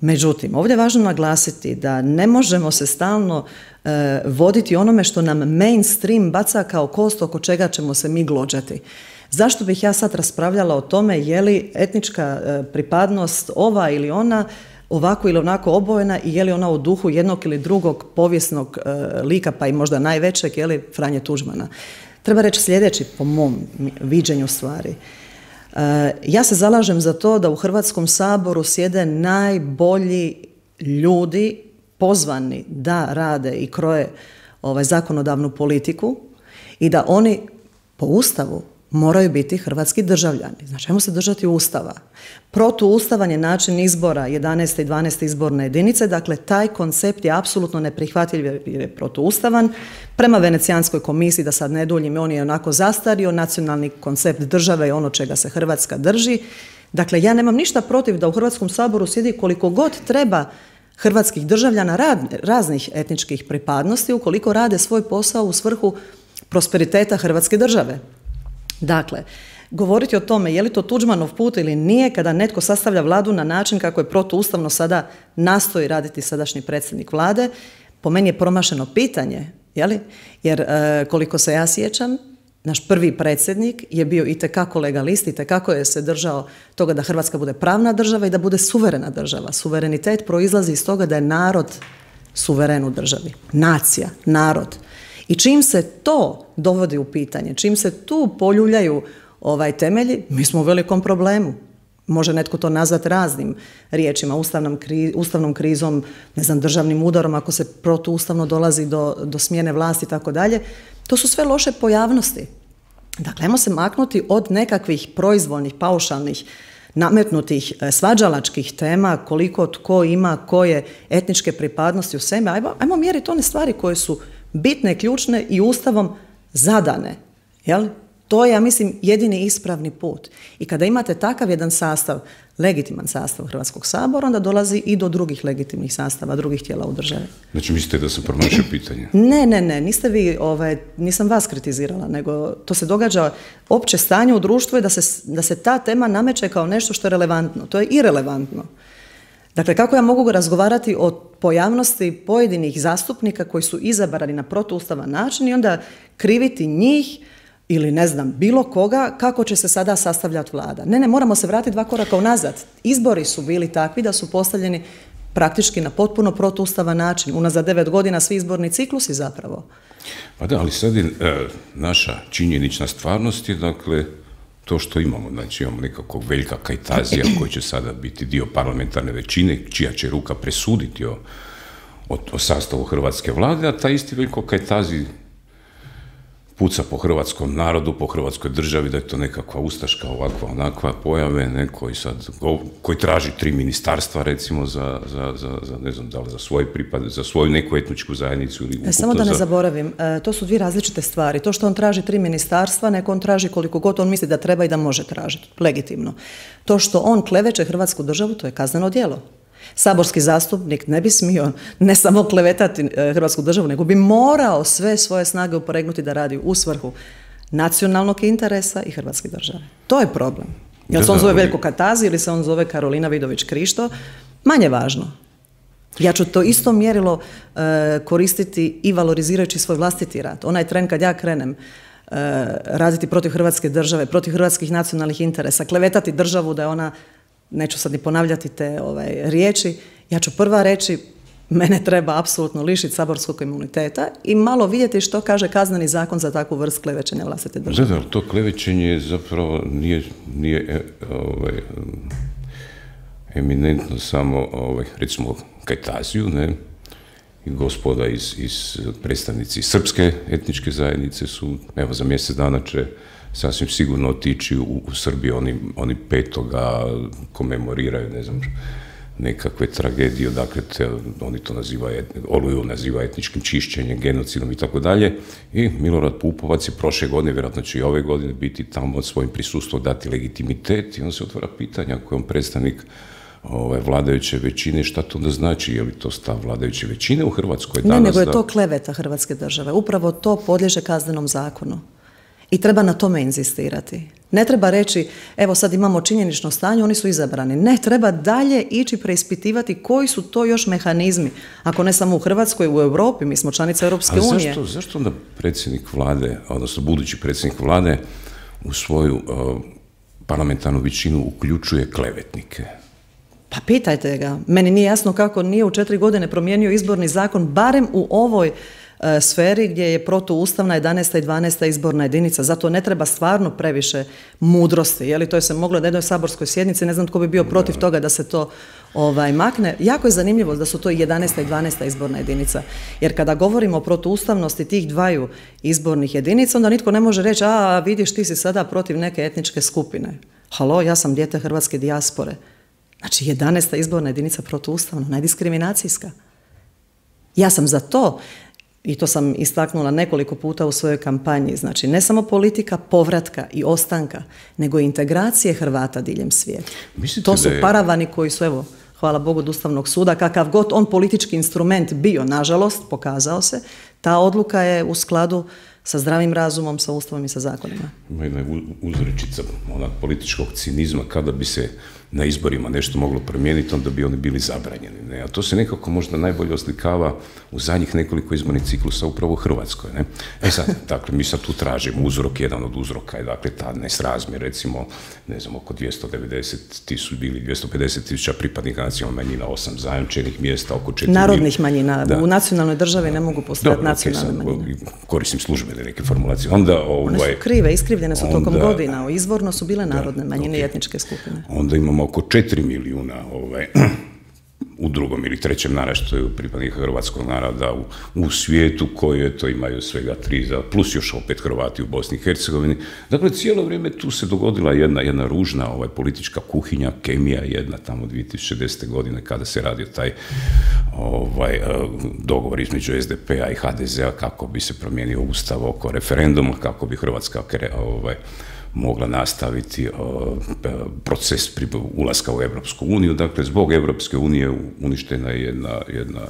Međutim, ovdje je važno naglasiti da ne možemo se stalno e, voditi onome što nam mainstream baca kao kost oko čega ćemo se mi glođati. Zašto bih ja sad raspravljala o tome je li etnička e, pripadnost ova ili ona ovako ili onako obojena i je li ona u duhu jednog ili drugog povijesnog e, lika, pa i možda najvećeg, je li Franje Tuđmana. Treba reći sljedeći po mom viđenju stvari. Ja se zalažem za to da u Hrvatskom saboru sjede najbolji ljudi pozvani da rade i kroje ovaj, zakonodavnu politiku i da oni po Ustavu moraju biti hrvatski državljani. Znači, ajmo se držati Ustava. Protuustavan je način izbora jedanaeste i dvanaeste izborne jedinice, dakle, taj koncept je apsolutno neprihvatljiv jer je protuustavan. Prema Venecijanskoj komisiji, da sad ne duljim, on je onako zastario, nacionalni koncept države je ono čega se Hrvatska drži. Dakle, ja nemam ništa protiv da u Hrvatskom saboru sjedi koliko god treba hrvatskih državljana raznih etničkih pripadnosti, ukoliko rade svoj posao u svrhu prosperiteta Hrvatske države. Dakle, govoriti o tome je li to Tuđmanov put ili nije kada netko sastavlja vladu na način kako je protuustavno sada nastoji raditi sadašnji predsjednik vlade, po meni je promašeno pitanje, je li? Jer e, koliko se ja sjećam, naš prvi predsjednik je bio itekako legalist, itekako je se držao toga da Hrvatska bude pravna država i da bude suverena država. Suverenitet proizlazi iz toga da je narod suveren u državi. Nacija, narod. I čim se to dovodi u pitanje, čim se tu poljuljaju ovaj temelji, mi smo u velikom problemu. Može netko to nazvati raznim riječima, ustavnom, kri, ustavnom krizom, ne znam, državnim udarom, ako se protuustavno dolazi do, do smjene vlasti i tako dalje. To su sve loše pojavnosti. Dakle, ajmo se maknuti od nekakvih proizvoljnih, paušalnih, nametnutih svađalačkih tema, koliko tko ima, koje etničke pripadnosti u sebi. Ajmo, ajmo mjeriti one stvari koje su bitne, ključne i Ustavom zadane. Jel? To je, ja mislim, jedini ispravni put. I kada imate takav jedan sastav, legitiman sastav Hrvatskog sabora, onda dolazi i do drugih legitimnih sastava, drugih tijela u državi. Znači, mislite da sam promašio pitanje? Ne, ne, ne, niste vi, ovaj, nisam vas kritizirala, nego to se događa, opće stanje u društvu je da se, da se ta tema nameće kao nešto što je relevantno. To je irelevantno. Dakle, kako ja mogu razgovarati o pojavnosti pojedinih zastupnika koji su izabrani na protuustavan način i onda kriviti njih ili ne znam, bilo koga, kako će se sada sastavljati vlada. Ne, ne, moramo se vratiti dva koraka unazad. Izbori su bili takvi da su postavljeni praktički na potpuno protuustavan način. Unazad devet godina svi izborni ciklusi zapravo. Pa da, ali sad je e, naša činjenična stvarnost je, dakle, to što imamo. Znači, imamo nekakvog Veljka Kajtazija koji će sada biti dio parlamentarne većine, čija će ruka presuditi o, o, o sastavu hrvatske vlade, a taj isti Veljko Kajtazi puca po hrvatskom narodu, po hrvatskoj državi, da je to nekakva ustaška, ovakva, onakva pojave, ne, koji sad, koji traži tri ministarstva, recimo, za, za, za, za ne znam, da li za svoj pripad, za svoju neku etničku zajednicu ili ukupno. Samo da ne za... zaboravim, to su dvije različite stvari. To što on traži tri ministarstva, neko on traži koliko god on misli da treba i da može tražiti, legitimno. To što on kleveće Hrvatsku državu, to je kazneno djelo. Saborski zastupnik ne bi smio ne samo klevetati Hrvatsku državu, nego bi morao sve svoje snage uporegnuti da radi u svrhu nacionalnog interesa i Hrvatske države. To je problem. Jel se on zove Veljko Kajtazi ili se on zove Karolina Vidović Krišto, manje važno. Ja ću to isto mjerilo uh, koristiti i valorizirajući svoj vlastiti rad. Onaj tren kad ja krenem uh, raditi protiv Hrvatske države, protiv hrvatskih nacionalnih interesa, klevetati državu da je ona, neću sad ni ponavljati te ovaj, riječi, ja ću prva reći, mene treba apsolutno lišiti saborskog imuniteta i malo vidjeti što kaže kazneni zakon za takvu vrst klevećenja vlastite države. Da, da, to klevećenje zapravo nije, nije ovaj, eminentno samo, ovaj, recimo, Kajtaziju, ne, i gospoda iz, iz predstavnici srpske etničke zajednice su, evo, za mjesec dana će sasvim sigurno otići u, u Srbiju, oni, oni petoga komemoriraju, ne znam, nekakve tragedije, dakle, te, oni to nazivaju, Oluju naziva etničkim čišćenjem, genocidom i tako dalje. I Milorad Pupovac je prošle godine, vjerojatno će i ove godine biti tamo svojim prisustvom dati legitimitet i on se otvara pitanja ako je on predstavnik ove vladajuće većine, šta to onda znači, je li to stav vladajuće većine u Hrvatskoj danas? Ne, nego je da... to kleveta Hrvatske države. Upravo to podliježe kaznenom zakonu. I treba na tome inzistirati. Ne treba reći, evo sad imamo činjenično stanje, oni su izabrani. Ne, treba dalje ići preispitivati koji su to još mehanizmi. Ako ne samo u Hrvatskoj, u Europi, mi smo članica Europske unije. Ali zašto, zašto onda predsjednik vlade, odnosno budući predsjednik vlade, u svoju uh, parlamentarnu većinu uključuje klevetnike? Pa pitajte ga. Meni nije jasno kako nije u četiri godine promijenio izborni zakon, barem u ovoj e, sferi gdje je protuustavna jedanaesta i dvanaesta izborna jedinica. Zato ne treba stvarno previše mudrosti. Je li to je se moglo na jednoj saborskoj sjednici, ne znam tko bi bio protiv toga da se to ovaj, makne. Jako je zanimljivo da su to jedanaesta i dvanaesta izborna jedinica. Jer kada govorimo o protuustavnosti tih dvaju izbornih jedinica, onda nitko ne može reći, a vidiš ti si sada protiv neke etničke skupine. Halo, ja sam dijete hrvatske dijaspore. Znači, jedanaesta izborna jedinica protuustavna, najdiskriminacijska. Ja sam za to, i to sam istaknula nekoliko puta u svojoj kampanji, znači ne samo politika povratka i ostanka, nego i integracije Hrvata diljem svijeta. Mislite to su je... paravani koji su, evo, hvala Bogu, od Ustavnog suda, kakav god on politički instrument bio, nažalost, pokazao se, ta odluka je u skladu sa zdravim razumom, sa Ustavom i sa zakonima. Ima jedna uzrečica onak političkog cinizma, kada bi se na izborima nešto moglo promijeniti, onda bi oni bili zabranjeni. Ne? A to se nekako možda najbolje oslikava u zadnjih nekoliko izbornih ciklusa upravo u Hrvatskoj. Ne? E sad, dakle, mi sad tu tražimo uzrok, jedan od uzroka je, dakle, ta nesrazmjer, recimo, ne znam, oko dvjesto devedeset tisuća ili dvjesto pedeset tisuća pripadnika nacionalnih manjina, osam zajamčenih mjesta, oko četiri... Narodnih manjina. Da. U nacionalnoj državi ne mogu postojati nacionalne okay, sad, manjine. Koristim službene neke formulacije. Onda, ovaj, one su krive, iskrivljene su tokom onda, godina. Izvorno su bile narodne manjine i okay. etničke skupine. Onda imamo oko četiri milijuna ovaj, u drugom ili trećem naraštaju pripadnika hrvatskog naroda u, u svijetu koje to imaju svega tri, plus još opet Hrvati u Bosni i Hercegovini. Dakle, cijelo vrijeme tu se dogodila jedna, jedna ružna ovaj, politička kuhinja, kemija jedna tamo dvije tisuće desete. godine kada se radio taj ovaj, dogovor između es de pe-a i ha de ze-a kako bi se promijenio ustav oko referenduma, kako bi Hrvatska ovaj, mogla nastaviti uh, proces ulaska u Europsku uniju. Dakle, zbog Europske unije uništena je jedna, jedna,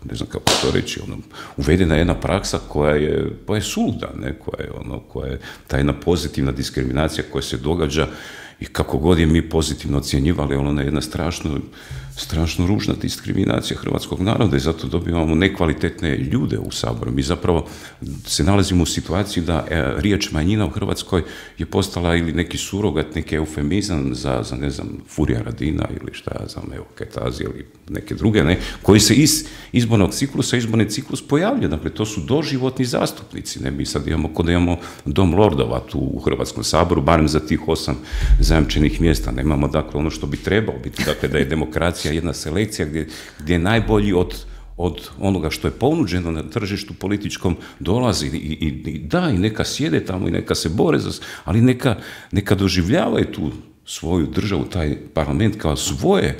ne znam kako to reći, ono, uvedena je jedna praksa koja je, koja je suluda, ne? Koja je, ono, koja je ta jedna pozitivna diskriminacija koja se događa i kako god je mi pozitivno ocjenjivali, ona je jedna strašno, strašno ružna diskriminacija hrvatskog naroda i zato dobivamo nekvalitetne ljude u Saboru. Mi zapravo se nalazimo u situaciji da e, riječ manjina u Hrvatskoj je postala ili neki surogat, neki eufemizam za, za ne znam, Furija Radina ili šta ja znam, evo, Kajtazi ili neke druge, ne, koji se iz izbornog ciklusa, izborni ciklus pojavlja. Dakle, to su doživotni zastupnici. Ne? Mi sad imamo, kod da imamo dom lordova tu u Hrvatskom saboru, barem za tih osam zajamčenih mjesta. Nemamo, dakle, ono što bi trebalo biti, dakle, da je demokracija jedna selekcija gdje, gdje najbolji od, od onoga što je ponuđeno na tržištu političkom dolazi i, i, i da, i neka sjede tamo i neka se bore, za, ali neka, neka doživljavaju tu svoju državu, taj parlament kao svoje,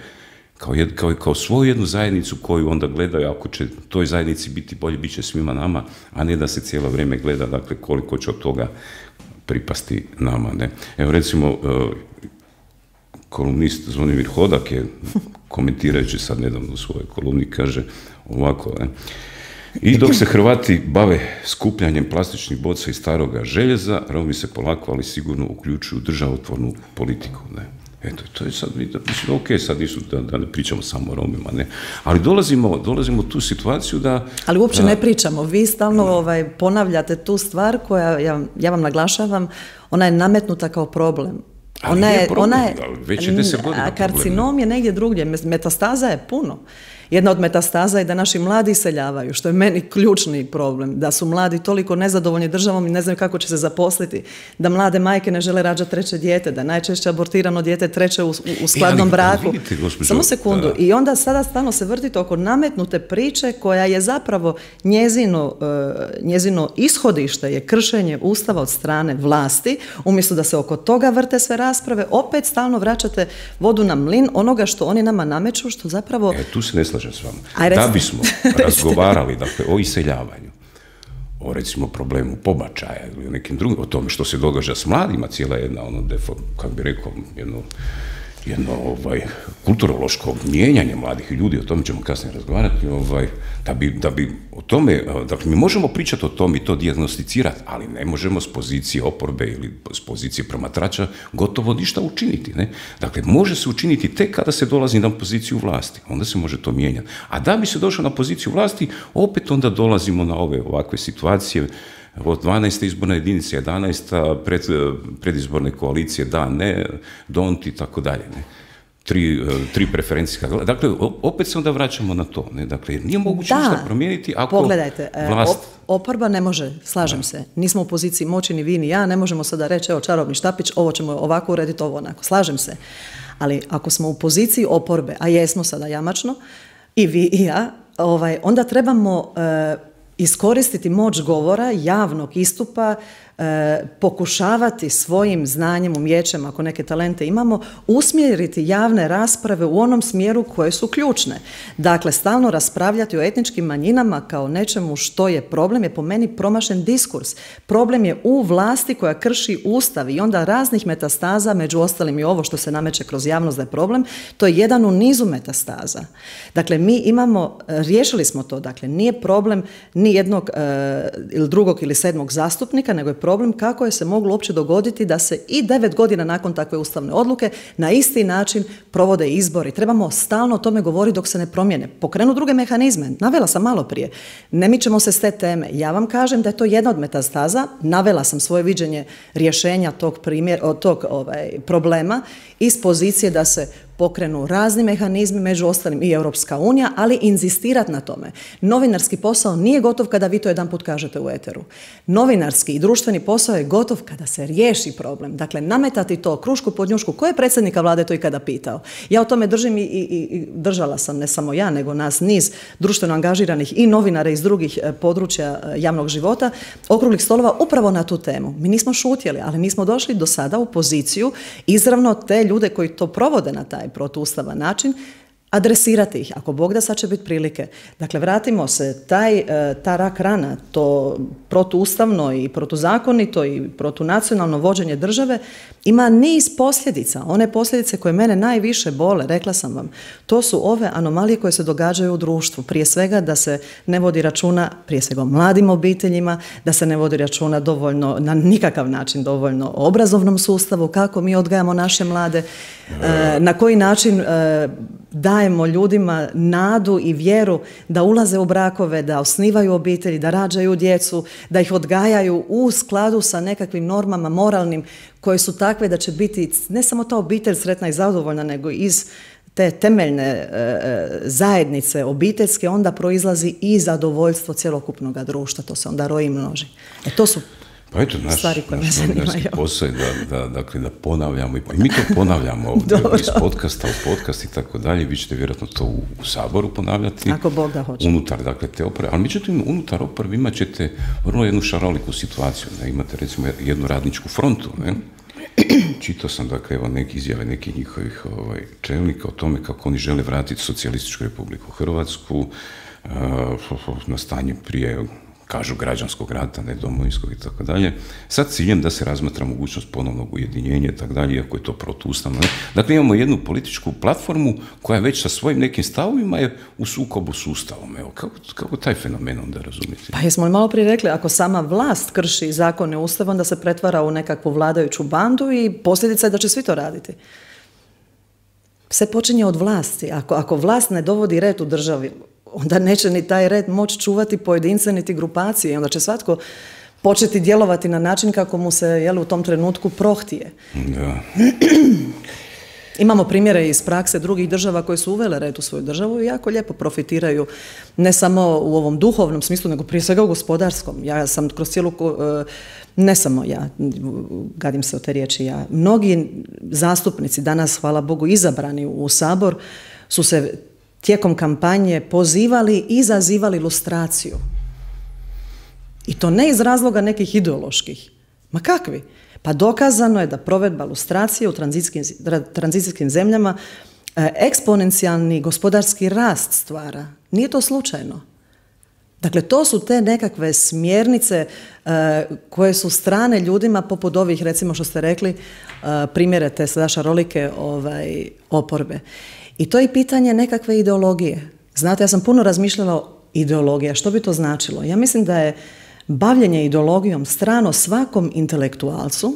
kao, jed, kao, kao svoju jednu zajednicu koju onda gledaju, ako će toj zajednici biti bolje, bit će svima nama, a ne da se cijelo vrijeme gleda, dakle, koliko će od toga pripasti nama. Ne? Evo, recimo, kolumnist Zvonimir Hodak je, komentirajući sad nedavno u svojoj kolumni, kaže ovako, ne? I dok se Hrvati bave skupljanjem plastičnih boca i staroga željeza, Romi se polako, ali sigurno uključuju u državotvornu politiku. Ne? Eto, to je sad, mislim, ok, sad nisu, da, da ne pričamo samo o Romima, ne? Ali dolazimo, dolazimo u tu situaciju da... Ali uopće da, ne pričamo, vi stalno ovaj, ponavljate tu stvar koja, ja, ja vam naglašavam, ona je nametnuta kao problem. Ali ona je, je, problem, ona je, već je deset godina karcinom je negdje drugdje, metastaza je puno. Jedna od metastaza je da naši mladi iseljavaju, što je meni ključni problem, da su mladi toliko nezadovoljni državom i ne znaju kako će se zaposliti, da mlade majke ne žele rađati treće dijete, da najčešće abortirano dijete treće u, u skladnom ja, braku. Vidite, gospođo, Samo sekundu. Da. I onda sada stalno se vrtite oko nametnute priče koja je zapravo njezino, njezino ishodište je kršenje Ustava od strane vlasti. Umjesto da se oko toga vrte sve rasprave, opet stalno vraćate vodu na mlin onoga što oni nama nameću, što zapravo... E, tu se ne slažem s vama. Aj, da bismo razgovarali dakle, o iseljavanju, o recimo problemu pobačaja ili o nekim drugim, o tome što se događa s mladima, cijela jedna, ono, defo, kako bi rekao, jedno, jedno ovaj, kulturološko mijenjanje mladih ljudi, o tome ćemo kasnije razgovarati, ovaj, da, bi, da bi o tome, dakle mi možemo pričati o tome i to dijagnosticirati, ali ne možemo s pozicije oporbe ili s pozicije promatrača gotovo ništa učiniti. Ne? Dakle, može se učiniti tek kada se dolazi na poziciju vlasti, onda se može to mijenjati. A da bi se došlo na poziciju vlasti, opet onda dolazimo na ove ovakve situacije, od dvanaeste izborne jedinice, jedanaesta pred, predizborne koalicije, da, ne, don't i tako dalje. Ne. Tri, tri preferencijska. Dakle, opet se onda vraćamo na to. Ne. Dakle, nije moguće ništa promijeniti ako pogledajte, vlast... oporba ne može, slažem da. se, nismo u poziciji moći ni vi ni ja, ne možemo sada reći, evo čarobni štapić, ovo ćemo ovako urediti, ovo onako, slažem se. Ali ako smo u poziciji oporbe, a jesmo sada jamačno, i vi i ja, ovaj, onda trebamo... E, iskoristiti moć govora, javnog istupa, e, pokušavati svojim znanjem, umjećem, ako neke talente imamo, usmjeriti javne rasprave u onom smjeru koje su ključne. Dakle, stalno raspravljati o etničkim manjinama kao nečemu što je problem, je po meni promašen diskurs. Problem je u vlasti koja krši Ustav i onda raznih metastaza, među ostalim i ovo što se nameće kroz javnost da je problem, to je jedan u nizu metastaza. Dakle, mi imamo, riješili smo to, dakle, nije problem ni jednog e, ili drugog ili sedmog zastupnika, nego je problem kako je se moglo uopće dogoditi da se i devet godina nakon takve ustavne odluke na isti način provode izbori. Trebamo stalno o tome govoriti dok se ne promijene. Pokrenu druge mehanizme. Navela sam malo prije. Ne mičemo se s te teme. Ja vam kažem da je to jedna od metastaza. Navela sam svoje viđenje rješenja tog, primjer, tog ovaj, problema iz pozicije da se pokrenu razni mehanizmi, među ostalim i Europska unija, ali inzistirati na tome. Novinarski posao nije gotov kada vi to jedan put kažete u eteru. Novinarski i društveni posao je gotov kada se riješi problem. Dakle, nametati to krušku pod njušku. Ko je predsjednika vlade to ikada pitao? Ja o tome držim i, i, i držala sam, ne samo ja, nego nas niz društveno angažiranih i novinara iz drugih područja javnog života, okruglih stolova upravo na tu temu. Mi nismo šutjeli, ali nismo došli do sada u poziciju izravno te ljude koji to provode na taj protuustavan način, adresirati ih. Ako Bog da, sad će biti prilike. Dakle, vratimo se, taj, ta rak rana, to protuustavno i protuzakonito i protunacionalno vođenje države ima niz posljedica. One posljedice koje mene najviše bole, rekla sam vam, to su ove anomalije koje se događaju u društvu. Prije svega da se ne vodi računa, prije svega o mladim obiteljima, da se ne vodi računa dovoljno, na nikakav način dovoljno o obrazovnom sustavu, kako mi odgajamo naše mlade, na koji način dajemo ljudima nadu i vjeru da ulaze u brakove, da osnivaju obitelji, da rađaju djecu, da ih odgajaju u skladu sa nekakvim normama moralnim koje su takve da će biti ne samo ta obitelj sretna i zadovoljna, nego iz te temeljne e, zajednice obiteljske onda proizlazi i zadovoljstvo cjelokupnog društva. To se onda roji i množi. E, to su Pa eto, naš, stvari koje naš me zanimaju. posao je da, da, dakle, da ponavljamo i, i mi to ponavljamo ovdje iz podcasta u podcast i tako dalje. Vi ćete vjerojatno to u, u Saboru ponavljati. Ako Bog da hoće. Unutar, dakle, te oporbe. Ali međutim, unutar oporbe imat ćete vrlo jednu šaroliku situaciju. Ne? Imate, recimo, jednu radničku frontu. Ne? Čitao sam, dakle, evo, neke izjave nekih njihovih ovaj, čelnika o tome kako oni žele vratiti Socijalističku Republiku Hrvatsku uh, na stanje prije, kažu, građanskog rata, ne domovinskog i tako dalje, sa ciljem da se razmatra mogućnost ponovnog ujedinjenja i tako dalje, iako je to protuustavno. Dakle, imamo jednu političku platformu koja već sa svojim nekim stavovima je u sukobu s Ustavom. Evo, kako, kako taj fenomen onda razumjeti? Pa jesmo li malo prije rekli, ako sama vlast krši zakone Ustava, onda se pretvara u nekakvu vladajuću bandu i posljedica je da će svi to raditi. Sve počinje od vlasti. Ako, ako vlast ne dovodi red u državi, onda neće ni taj red moći čuvati pojedince niti grupacije. Onda će svatko početi djelovati na način kako mu se, jel, u tom trenutku prohtije. Da. Imamo primjere iz prakse drugih država koje su uvele red u svoju državu i jako lijepo profitiraju ne samo u ovom duhovnom smislu, nego prije svega u gospodarskom. Ja sam kroz cijelu, ne samo ja, gadim se o te riječi ja, mnogi zastupnici danas, hvala Bogu, izabrani u Sabor, su se tijekom kampanje pozivali i izazivali lustraciju. I to ne iz razloga nekih ideoloških. Ma kakvi? Pa dokazano je da provedba lustracije u tranzicijskim, tranzicijskim zemljama eksponencijalni gospodarski rast stvara. Nije to slučajno. Dakle, to su te nekakve smjernice uh, koje su strane ljudima poput ovih, recimo što ste rekli, uh, primjere te sadašnje rolike ovaj, oporbe. I to je pitanje nekakve ideologije. Znate, ja sam puno razmišljala o ideologiji. Što bi to značilo? Ja mislim da je bavljenje ideologijom strano svakom intelektualcu,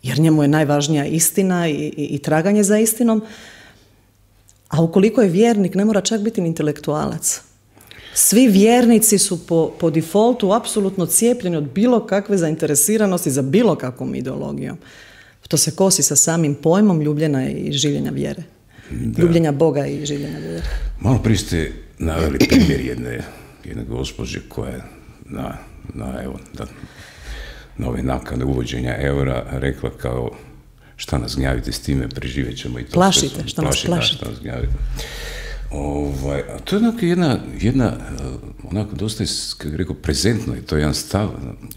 jer njemu je najvažnija istina i, i, i traganje za istinom, a ukoliko je vjernik, ne mora čak biti intelektualac. Svi vjernici su po, po defaultu apsolutno cijepljeni od bilo kakve zainteresiranosti za bilo kakvom ideologijom. To se kosi sa samim pojmom ljubljenja i življenja vjere. Da. Ljubljenja Boga i življenja vjere. Malo prije ste naveli primjer jedne, jedne gospođe koja je na, na, evo, da, na ove nakane uvođenja eura rekla kao šta nas gnjavite s time, preživjet ćemo i to. Plašite, sve, šta nas plašite. Šta nas gnjavite. Ovaj, a to je onako jedna, jedna onako dosta, kako bih rekao, prezentno je to jedan stav,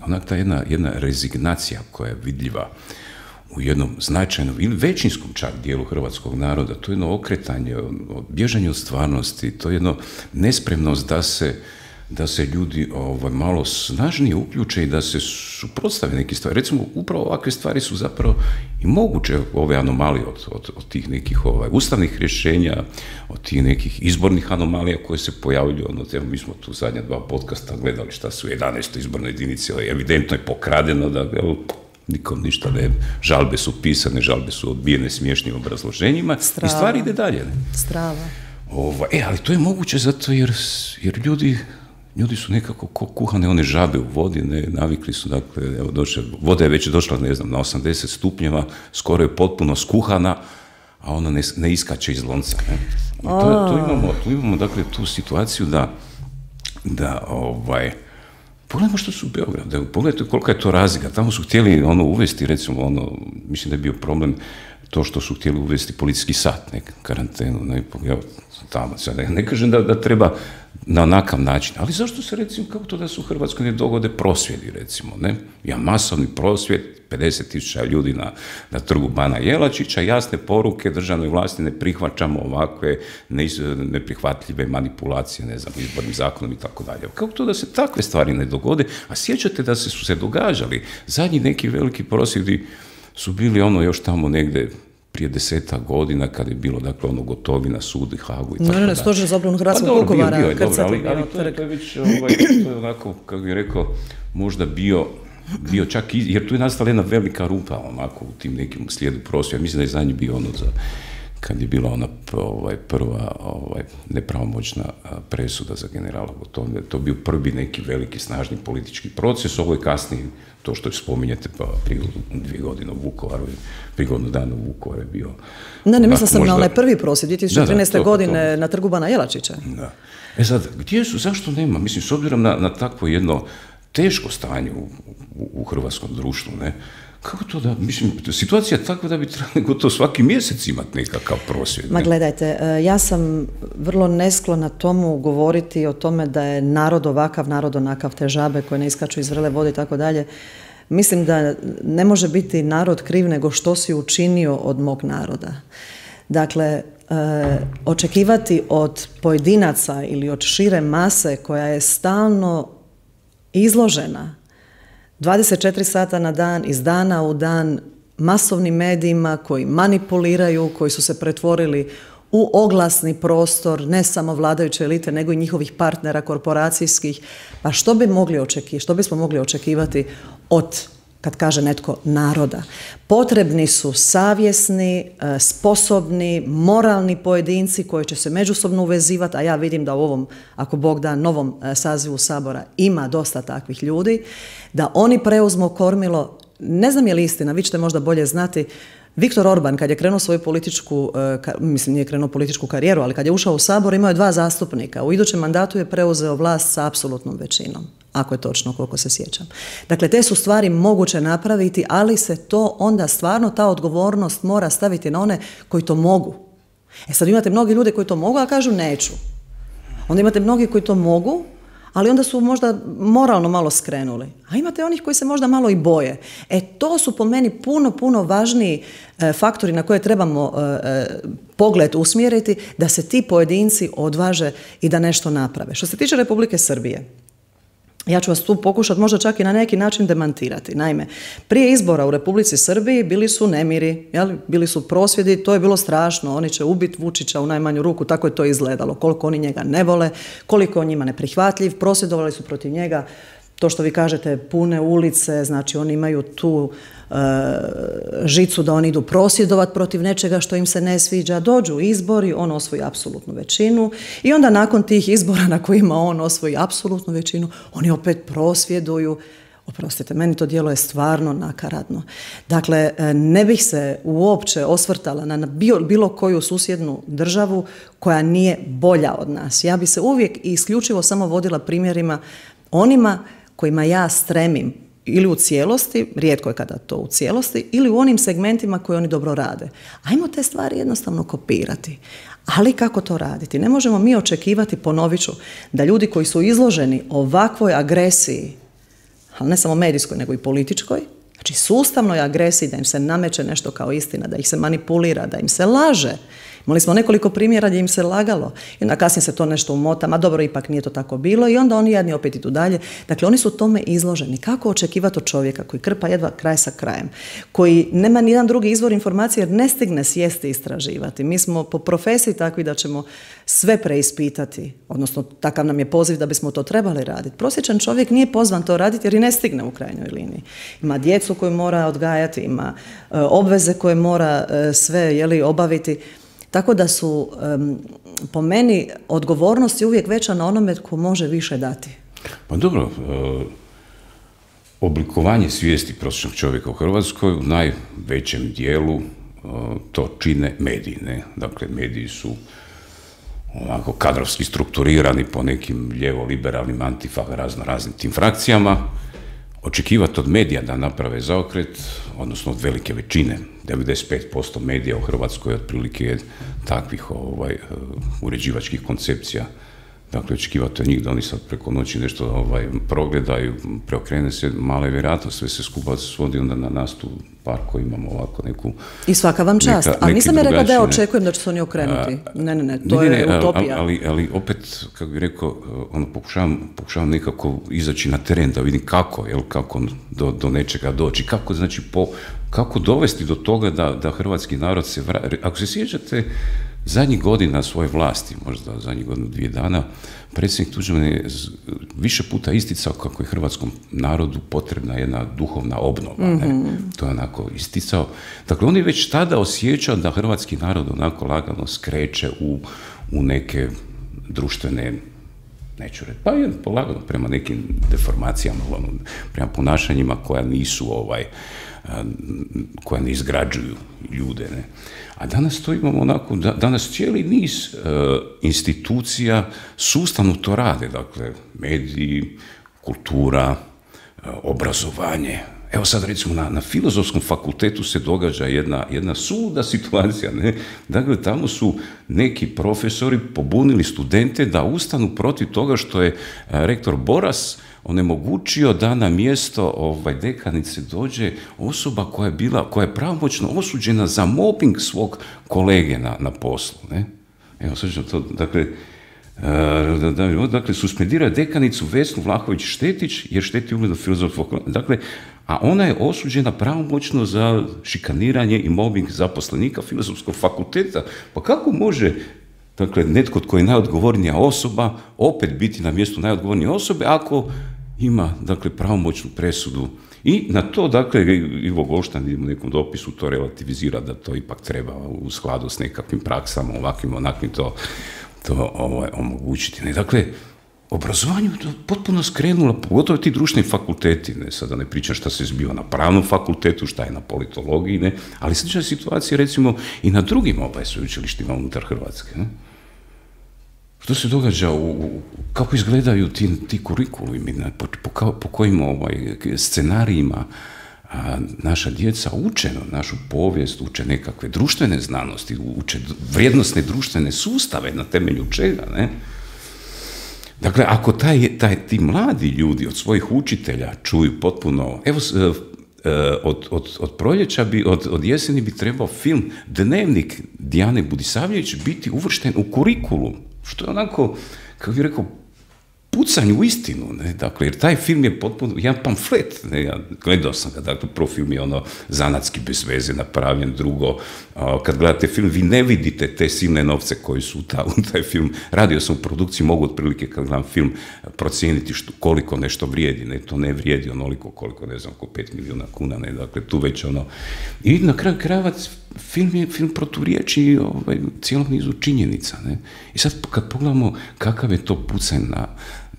onako ta jedna, jedna rezignacija koja je vidljiva u jednom značajnom ili većinskom čak dijelu hrvatskog naroda, to je jedno okretanje, bježanje od stvarnosti, to je jedno nespremnost da se, da se ljudi ovaj, malo snažnije uključe i da se suprotstave neke stvari. Recimo, upravo ovakve stvari su zapravo i moguće, ove anomalije od, od, od tih nekih ovaj, ustavnih rješenja, od tih nekih izbornih anomalija koje se pojavljuju. Ono, evo, mi smo tu zadnja dva podcasta gledali šta su u jedanaestoj izbornoj jedinici, evidentno je pokradeno da evo, nikom ništa ne, žalbe su pisane, žalbe su odbijene smiješnim obrazloženjima. Strava. I stvari ide dalje. Ne? Strava. Ova, e, ali to je moguće zato jer, jer ljudi, ljudi su nekako ko kuhane one žabe u vodi, ne, navikli su, dakle, evo, došle, voda je već došla, ne znam, na osamdeset stupnjeva, skoro je potpuno skuhana, a ona ne, ne iskače iz lonca. Ne? I to, to imamo, tu imamo, dakle, tu situaciju da, da, ovaj, pogledajmo što su u Beogradu, pogledajte kolika je to razlika. Tamo su htjeli ono uvesti, recimo, ono, mislim da je bio problem to što su htjeli uvesti policijski sat, ne, karantenu, ne, evo, tamo, sad, ne kažem da, da treba na onakav način, ali zašto se, recimo, kako to da su u Hrvatskoj ne dogode prosvjedi, recimo, ne? Ja masovni prosvjed, pedeset tisuća ljudi na, na trgu Bana Jelačića, jasne poruke državnoj vlasti, ne prihvaćamo ovakve neprihvatljive manipulacije, ne znam, izbornim zakonom i tako dalje. Kako to da se takve stvari ne dogode, a sjećate da se su se događali, zadnji neki veliki prosvjedi su bili ono još tamo negdje prije desetak godina, kada je bilo, dakle, ono Gotovina, sud i Hagu i tako dalje. Ne, ne, stožer za obranu Hrvatskog Vukovara. Pa dobro, bio, bio je, dobro, ali, ali to, je, to je već, ovaj, to je onako, kako bih rekao, možda bio, bio čak, iz, jer tu je nastala jedna velika rupa, onako, u tim nekim slijedu prosvjeda. Mislim da je zadnji bio ono za, kad je bila ona ovaj, prva ovaj, nepravomoćna presuda za generala Gotovinu. To je bio prvi neki veliki, snažni politički proces, ovo je kasnije, to što spominjete, pa prije dvije godine u Vukovaru, prije godinu dana u Vukovaru je bio... Ne, ne, mislila sam možda na onaj prvi prosvjed, dvije tisuće trinaeste. Da, da, to, godine to. Na trgu Bana Jelačića. Da. E sad, gdje su, zašto nema? Mislim, s obzirom na, na takvo jedno teško stanje u, u, u hrvatskom društvu, ne? Kako to da, mislim, situacija je takva da bi trebali gotovo svaki mjesec imati nekakav prosvjed. Ma gledajte, ja sam vrlo nesklona tomu govoriti o tome da je narod ovakav, narod onakav, te žabe koje ne iskaču iz vrele vode i tako dalje. Mislim da ne može biti narod kriv nego što si učinio od mog naroda. Dakle, e, očekivati od pojedinaca ili od šire mase koja je stalno izložena dvadeset četiri sata na dan, iz dana u dan, masovnim medijima koji manipuliraju, koji su se pretvorili u oglasni prostor, ne samo vladajuće elite, nego i njihovih partnera korporacijskih. Pa što bi mogli očekivati, što bismo mogli očekivati od, kad kaže netko, naroda? Potrebni su savjesni, sposobni, moralni pojedinci koji će se međusobno uvezivati, a ja vidim da u ovom, ako Bog da, novom sazivu Sabora ima dosta takvih ljudi, da oni preuzmu kormilo. Ne znam je li istina, vi ćete možda bolje znati, Viktor Orban, kad je krenuo svoju političku, mislim nije krenuo političku karijeru, ali kad je ušao u Sabor, imao je dva zastupnika. U idućem mandatu je preuzeo vlast sa apsolutnom većinom, ako je točno, koliko se sjećam. Dakle, te su stvari moguće napraviti, ali se to onda stvarno, ta odgovornost mora staviti na one koji to mogu. E sad imate mnogi ljudi koji to mogu, a kažu neću. Onda imate mnogi koji to mogu, ali onda su možda moralno malo skrenuli. A imate onih koji se možda malo i boje. E to su po meni puno, puno važniji e, faktori na koje trebamo e, pogled usmjeriti da se ti pojedinci odvaže i da nešto naprave. Što se tiče Republike Srbije, ja ću vas tu pokušati možda čak i na neki način demantirati. Naime, prije izbora u Republici Srbiji bili su nemiri, jel? Bili su prosvjedi, to je bilo strašno, oni će ubiti Vučića u najmanju ruku, tako je to izgledalo, koliko oni njega ne vole, koliko on njima neprihvatljiv, prosvjedovali su protiv njega, to što vi kažete, pune ulice, znači oni imaju tu e, žicu da oni idu prosvjedovati protiv nečega što im se ne sviđa, dođu izbori, on osvoji apsolutnu većinu i onda nakon tih izbora na kojima on osvoji apsolutnu većinu, oni opet prosvjeduju. Oprostite, meni to djelo je stvarno nakaradno. Dakle, ne bih se uopće osvrtala na bilo koju susjednu državu koja nije bolja od nas. Ja bi se uvijek i isključivo samo vodila primjerima onima kojima ja stremim ili u cijelosti, rijetko je kada to u cijelosti, ili u onim segmentima koje oni dobro rade. Ajmo te stvari jednostavno kopirati. Ali kako to raditi? Ne možemo mi očekivati, ponovit ću, da ljudi koji su izloženi ovakvoj agresiji, ali ne samo medijskoj, nego i političkoj, znači sustavnoj agresiji, da im se nameće nešto kao istina, da ih se manipulira, da im se laže. Imali smo nekoliko primjera gdje im se lagalo i onda kasnije se to nešto umota, ma dobro, ipak nije to tako bilo i onda oni jadni opet idu dalje. Dakle, oni su tome izloženi. Kako očekivati od čovjeka koji krpa jedva kraj sa krajem, koji nema nijedan drugi izvor informacije jer ne stigne sjesti i istraživati. Mi smo po profesiji takvi da ćemo sve preispitati, odnosno takav nam je poziv da bismo to trebali raditi. Prosječan čovjek nije pozvan to raditi jer i ne stigne u krajnjoj liniji. Ima djecu koju mora odgajati, ima e, obveze koje mora e, sve jeli, obaviti. Tako da su, um, po meni, odgovornost je uvijek veća na onome tko može više dati. Pa dobro, uh, oblikovanje svijesti prosječnog čovjeka u Hrvatskoj u najvećem dijelu uh, to čine mediji, ne? Dakle, mediji su onako kadrovski strukturirani po nekim lijevo-liberalnim antifa razno raznim tim frakcijama. Očekivati od medija da naprave zaokret, odnosno od velike većine, devedeset pet posto medija u Hrvatskoj otprilike je takvih ovaj, uređivačkih koncepcija. Dakle, očekivati od njih da oni sad preko noći nešto ovaj, progledaju, preokrene se, mala je vjerojatnost, sve se skupa svodi onda na nas tu par koji imamo ovako neku... I svaka vam čast. Neka, ali nisam je rekla da ja očekujem da će se oni okrenuti. Ne, ne, ne, to ne, je ne, utopija. Ali, ali opet, kako bih rekao, ono, pokušavam, pokušavam nekako izaći na teren da vidim kako, jel, kako do, do nečega doći, kako, znači, po, kako dovesti do toga da, da hrvatski narod se vrati. Ako se sjećate zadnjih godina svoje vlasti, možda zadnjih godinu, dvije dana, predsjednik Tuđman je više puta isticao kako je hrvatskom narodu potrebna jedna duhovna obnova. Mm-hmm. Ne? To je onako isticao. Dakle, on je već tada osjećao da hrvatski narod onako lagano skreće u, u neke društvene, neću reći, pa je polagano prema nekim deformacijama, prema ponašanjima koja nisu ovaj, koja ne izgrađuju ljude. Ne? A danas to imamo onako, da, danas cijeli niz uh, institucija sustavno to rade, dakle, mediji, kultura, uh, obrazovanje. Evo sad recimo na, na Filozofskom fakultetu se događa jedna, jedna suluda situacija, ne? Dakle, tamo su neki profesori pobunili studente da ustanu protiv toga što je uh, rektor Boras onemogućio da na mjesto ovaj, dekanice dođe osoba koja je bila, koja je pravomoćno osuđena za mobbing svog kolege na, na poslu. Ne? Evo, sad ću to, dakle, uh, da, da, dakle, suspendirao dekanicu Vesnu Vlahović-Štetić jer šteti ugledu Filozofskog fakulteta. Dakle, a ona je osuđena pravomoćno za šikaniranje i mobbing zaposlenika Filozofskog fakulteta. Pa kako može, dakle, netko tko je najodgovornija osoba opet biti na mjestu najodgovornije osobe ako ima, dakle, pravomoćnu presudu? I na to, dakle, Ivo Golštan u nekom dopisu to relativizira da to ipak treba u skladu s nekakvim praksama, ovakvim, onakvim to, to ovaj, omogućiti. Ne? Dakle, obrazovanju je potpuno skrenula, pogotovo ti društveni fakulteti, ne, sada ne pričam šta se zbiva na pravnom fakultetu, šta je na politologiji, ne, ali slična situacija recimo i na drugim ovaj, sveučilištima unutar Hrvatske. Ne. Što se događa, u, kako izgledaju ti, ti kurikulumi, ne, po, po, po kojim ovaj, scenarijima a, naša djeca uče našu povijest, uče nekakve društvene znanosti, uče vrijednosne društvene sustave na temelju čega, ne? Dakle, ako taj, taj, ti mladi ljudi od svojih učitelja čuju potpuno, evo, od, od, od proljeća, bi, od, od jeseni bi trebao film Dnevnik Dijane Budisavljević biti uvršten u kurikulum, što je onako, kako bih rekao, pucanj u istinu, ne, dakle, jer taj film je potpuno, jedan pamflet, ne, ja gledao sam ga, dakle, prvo film je ono zanatski bez veze napravljen, drugo, a, kad gledate film, vi ne vidite te silne novce koji su ta, u taj film, radio sam u produkciji, mogu otprilike kad gledam film procijeniti što, koliko nešto vrijedi, ne, to ne vrijedi onoliko koliko, ne znam, oko pet milijuna kuna, ne, dakle, tu već ono, i na kraju krajeva film je film proturječi ovaj, cijelom nizu činjenica, ne, i sad kad pogledamo kakav je to pucanj na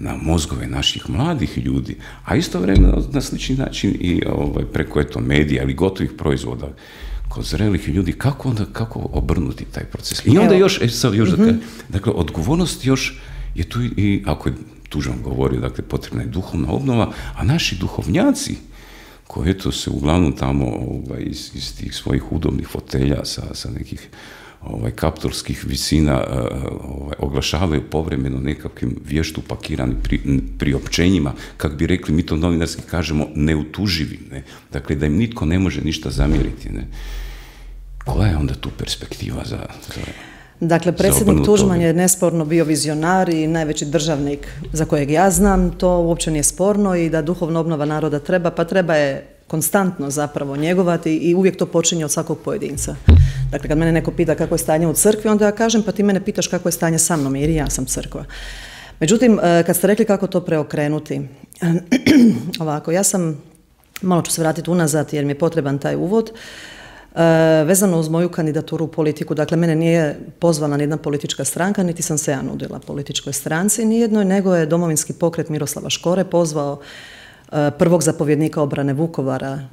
na mozgove naših mladih ljudi, a istovremeno na slični način i ovaj, preko eto medija ili gotovih proizvoda kod zrelih ljudi, kako onda, kako obrnuti taj proces. I onda još, e, sad još mm-hmm. dakle, dakle, odgovornost još je tu i, ako je Tuđman govorio, dakle, potrebna je duhovna obnova, a naši duhovnjaci, koji eto se uglavnom tamo ovaj, iz, iz tih svojih udobnih fotelja sa, sa nekih ovaj, kaptorskih visina ovaj, oglašavaju povremeno nekakvim vještu pakiranim pri, priopćenjima, kako bi rekli, mi to novinarski kažemo, neutuživim, ne? Dakle, da im nitko ne može ništa zamjeriti. Ne? Koja je onda tu perspektiva za... za Dakle, predsjednik Tuđman je nesporno bio vizionar i najveći državnik za kojeg ja znam, to uopće nije sporno i da duhovna obnova naroda treba, pa treba je konstantno zapravo njegovati i uvijek to počinje od svakog pojedinca. Dakle, kad mene neko pita kako je stanje u crkvi, onda ja kažem, pa ti mene pitaš kako je stanje sa mnom, jer i ja sam crkva. Međutim, kad ste rekli kako to preokrenuti, ovako, ja sam, malo ću se vratiti unazad jer mi je potreban taj uvod, vezano uz moju kandidaturu u politiku. Dakle, mene nije pozvala nijedna politička stranka, niti sam se ja nudila političkoj stranci nijednoj, nego je Domovinski pokret Miroslava Škore pozvao prvog zapovjednika obrane Vukovara,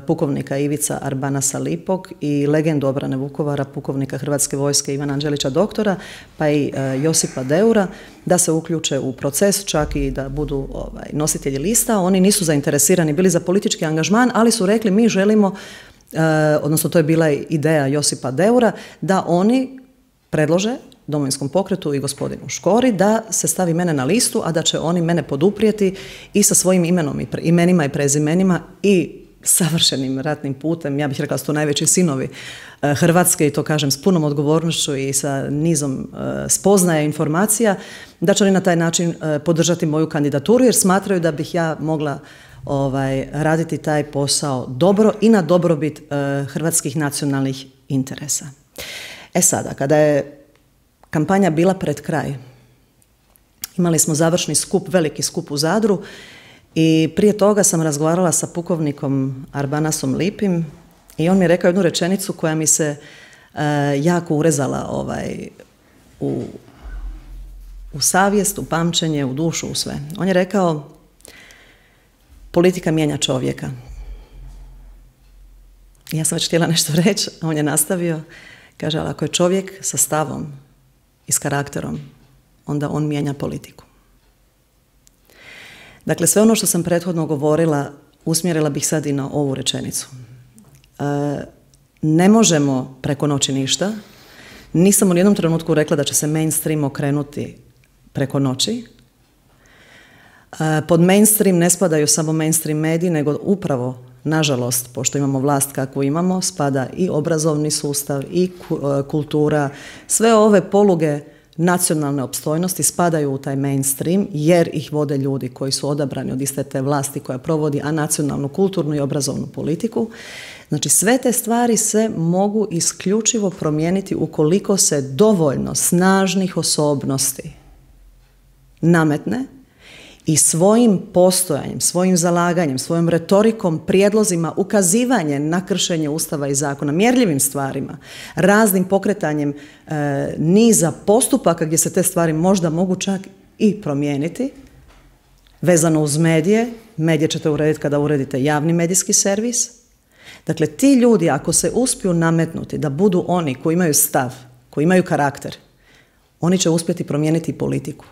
pukovnika Ivica Arbanasa Lipog i legendu obrane Vukovara, pukovnika Hrvatske vojske Ivana Anđelića doktora, pa i Josipa Deura, da se uključe u proces, čak i da budu ovaj, nositelji lista. Oni nisu zainteresirani bili za politički angažman, ali su rekli mi želimo, odnosno to je bila ideja Josipa Deura, da oni predlože Domovinskom pokretu i gospodinu Škori da se stavi mene na listu, a da će oni mene poduprijeti i sa svojim imenom i pre, imenima i prezimenima i savršenim ratnim putem, ja bih rekla su to najveći sinovi Hrvatske i to kažem s punom odgovornošću i sa nizom spoznaja i informacija, da će oni na taj način podržati moju kandidaturu jer smatraju da bih ja mogla ovaj, raditi taj posao dobro i na dobrobit hrvatskih nacionalnih interesa. E sada, kada je kampanja bila pred kraj, imali smo završni skup, veliki skup u Zadru i prije toga sam razgovarala sa pukovnikom Arbanasom Lipim i on mi je rekao jednu rečenicu koja mi se uh, jako urezala ovaj, u, u savjest, u pamćenje, u dušu, u sve. On je rekao, politika mijenja čovjeka. Ja sam već htjela nešto reći, a on je nastavio, kaže, ali ako je čovjek sa stavom i s karakterom, onda on mijenja politiku. Dakle, sve ono što sam prethodno govorila, usmjerila bih sad i na ovu rečenicu. E, ne možemo preko noći ništa. Nisam u nijednom trenutku rekla da će se mainstream okrenuti preko noći. E, pod mainstream ne spadaju samo mainstream mediji, nego upravo, nažalost, pošto imamo vlast kakvu imamo, spada i obrazovni sustav, i kultura, sve ove poluge nacionalne opstojnosti spadaju u taj mainstream jer ih vode ljudi koji su odabrani od iste te vlasti koja provodi a nacionalnu, kulturnu i obrazovnu politiku. Znači sve te stvari se mogu isključivo promijeniti ukoliko se dovoljno snažnih osobnosti nametne i svojim postojanjem, svojim zalaganjem, svojom retorikom, prijedlozima, ukazivanjem na kršenje Ustava i zakona, mjerljivim stvarima, raznim pokretanjem e, niza postupaka gdje se te stvari možda mogu čak i promijeniti. Vezano uz medije, medije ćete urediti kada uredite javni medijski servis. Dakle, ti ljudi ako se uspiju nametnuti da budu oni koji imaju stav, koji imaju karakter, oni će uspjeti promijeniti politiku.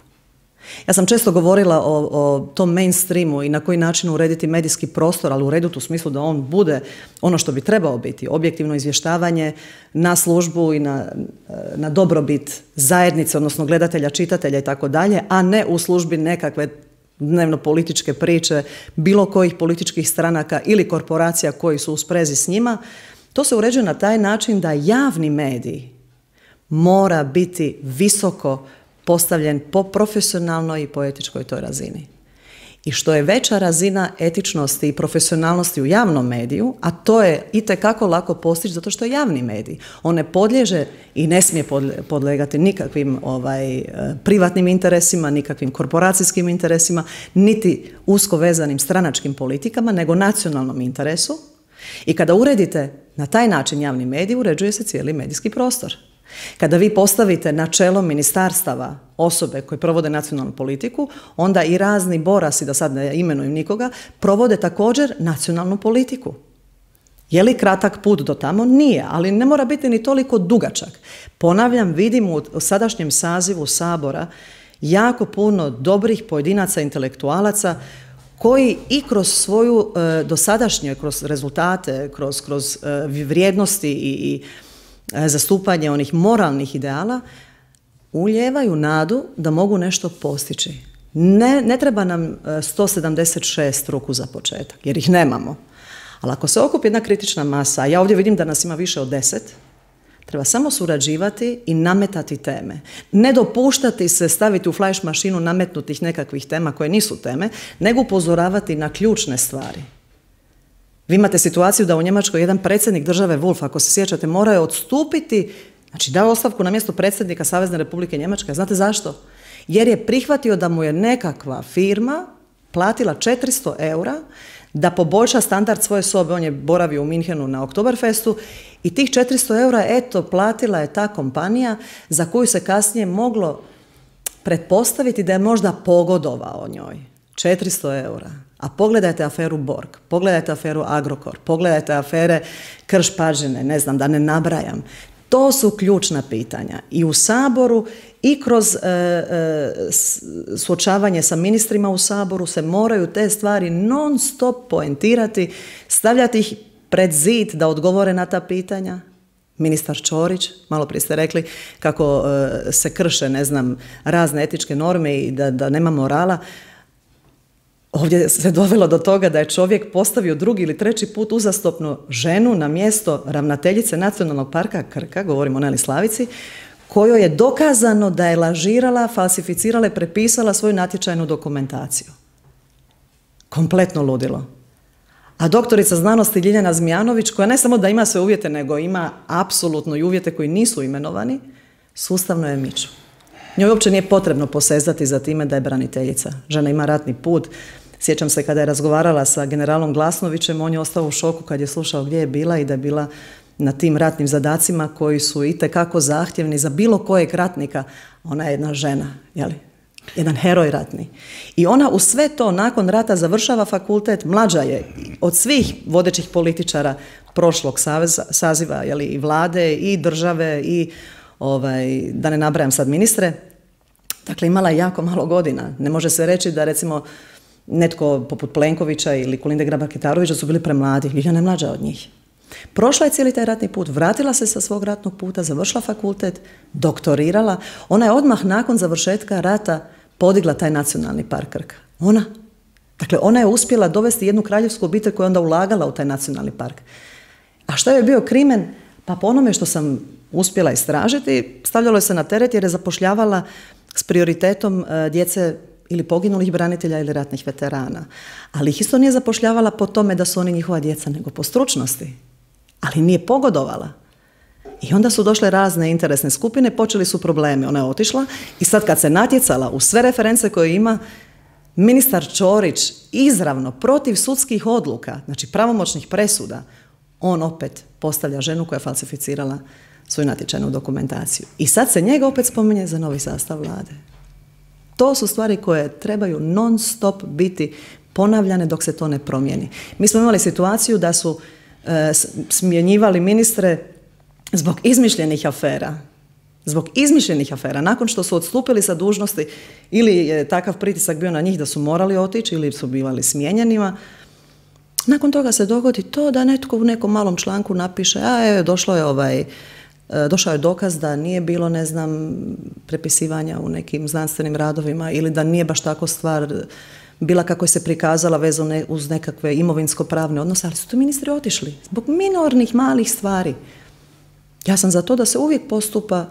Ja sam često govorila o, o tom mainstreamu i na koji način urediti medijski prostor, ali urediti u smislu da on bude ono što bi trebao biti, objektivno izvještavanje na službu i na, na dobrobit zajednice, odnosno gledatelja, čitatelja i tako dalje, a ne u službi nekakve dnevno političke priče bilo kojih političkih stranaka ili korporacija koji su u sprezi s njima. To se uređuje na taj način da javni medij mora biti visoko postavljen po profesionalnoj i po etičkoj toj razini. I što je veća razina etičnosti i profesionalnosti u javnom mediju, a to je itekako lako postići zato što je javni medij. On ne podliježe i ne smije podlegati nikakvim ovaj, privatnim interesima, nikakvim korporacijskim interesima, niti usko vezanim stranačkim politikama, nego nacionalnom interesu. I kada uredite na taj način javni medij, uređuje se cijeli medijski prostor. Kada vi postavite na čelo ministarstava osobe koje provode nacionalnu politiku, onda i razni borasi, da sad ne imenujem nikoga, provode također nacionalnu politiku. Je li kratak put do tamo? Nije, ali ne mora biti ni toliko dugačak. Ponavljam, vidim u sadašnjem sazivu Sabora jako puno dobrih pojedinaca, intelektualaca koji i kroz svoju e, dosadašnje, kroz rezultate, kroz, kroz e, vrijednosti i, i zastupanje onih moralnih ideala, ulijevaju nadu da mogu nešto postići. Ne, ne treba nam sto sedamdeset šest ruku za početak, jer ih nemamo. Ali ako se okupi jedna kritična masa, a ja ovdje vidim da nas ima više od deset, treba samo surađivati i nametati teme. Ne dopuštati se staviti u flash mašinu nametnutih nekakvih tema koje nisu teme, nego upozoravati na ključne stvari. Vi imate situaciju da u Njemačkoj jedan predsjednik države Wolf, ako se sjećate, morao je odstupiti, znači dao ostavku na mjesto predsjednika Savezne Republike Njemačke. Znate zašto? Jer je prihvatio da mu je nekakva firma platila četiristo eura da poboljša standard svoje sobe. On je boravio u Minhenu na Oktoberfestu i tih četiristo eura, eto, platila je ta kompanija za koju se kasnije moglo pretpostaviti da je možda pogodovao njoj. četiristo eura. A pogledajte aferu Borg, pogledajte aferu Agrokor, pogledajte afere Krš-Pađene, ne znam, da ne nabrajam. To su ključna pitanja. I u Saboru i kroz e, e, suočavanje sa ministrima u Saboru se moraju te stvari non stop poentirati, stavljati ih pred zid da odgovore na ta pitanja. Ministar Ćorić, malo prije ste rekli kako e, se krše, ne znam, razne etičke norme i da, da nema morala. Ovdje se dovelo do toga da je čovjek postavio drugi ili treći put uzastopno ženu na mjesto ravnateljice Nacionalnog parka Krka, govorimo o Neli Slavici, kojoj je dokazano da je lažirala, falsificirala i prepisala svoju natječajnu dokumentaciju. Kompletno ludilo. A doktorica znanosti Ljiljana Zmijanović, koja ne samo da ima sve uvjete, nego ima apsolutno i uvjete koji nisu imenovani, sustavno je miču. Njoj uopće nije potrebno posezati za time da je braniteljica. Žena ima ratni put. Sjećam se kada je razgovarala sa generalom Glasnovićem, on je ostao u šoku kad je slušao gdje je bila i da je bila na tim ratnim zadacima koji su itekako zahtjevni za bilo kojeg ratnika. Ona je jedna žena, jeli? Jedan heroj ratni. I ona u sve to nakon rata završava fakultet, mlađa je od svih vodećih političara prošlog saveza, saziva, jeli, i vlade i države i ovaj, da ne nabrajam sad ministre. Dakle, imala je jako malo godina. Ne može se reći da recimo netko poput Plenkovića ili Kolinde Grabar-Kitarovića su bili premladi. Ljiljana je mlađa od njih. Prošla je cijeli taj ratni put, vratila se sa svog ratnog puta, završila fakultet, doktorirala. Ona je odmah nakon završetka rata podigla taj nacionalni park Krka. Ona. Dakle, ona je uspjela dovesti jednu kraljevsku obitelj koja je onda ulagala u taj nacionalni park. A što je bio krimen? Pa po onome što sam uspjela istražiti, stavljalo je se na teret jer je zapošljavala s prioritetom djece ili poginulih branitelja ili ratnih veterana. Ali ih isto nije zapošljavala po tome da su oni njihova djeca, nego po stručnosti. Ali nije pogodovala. I onda su došle razne interesne skupine, počeli su problemi. Ona je otišla i sad kad se natjecala u sve reference koje ima, ministar Ćorić izravno protiv sudskih odluka, znači pravomoćnih presuda, on opet postavlja ženu koja je falsificirala svoju natječajnu dokumentaciju. I sad se njega opet spominje za novi sastav vlade. To su stvari koje trebaju non stop biti ponavljane dok se to ne promijeni. Mi smo imali situaciju da su e, smjenjivali ministre zbog izmišljenih afera. Zbog izmišljenih afera. Nakon što su odstupili sa dužnosti ili je takav pritisak bio na njih da su morali otići ili su bivali smijenjenima, nakon toga se dogodi to da netko u nekom malom članku napiše, a je, došlo je ovaj, došao je dokaz da nije bilo, ne znam, prepisivanja u nekim znanstvenim radovima ili da nije baš tako stvar bila kako je se prikazala vezano uz nekakve imovinsko-pravne odnose, ali su to ministri otišli zbog minornih malih stvari. Ja sam za to da se uvijek postupa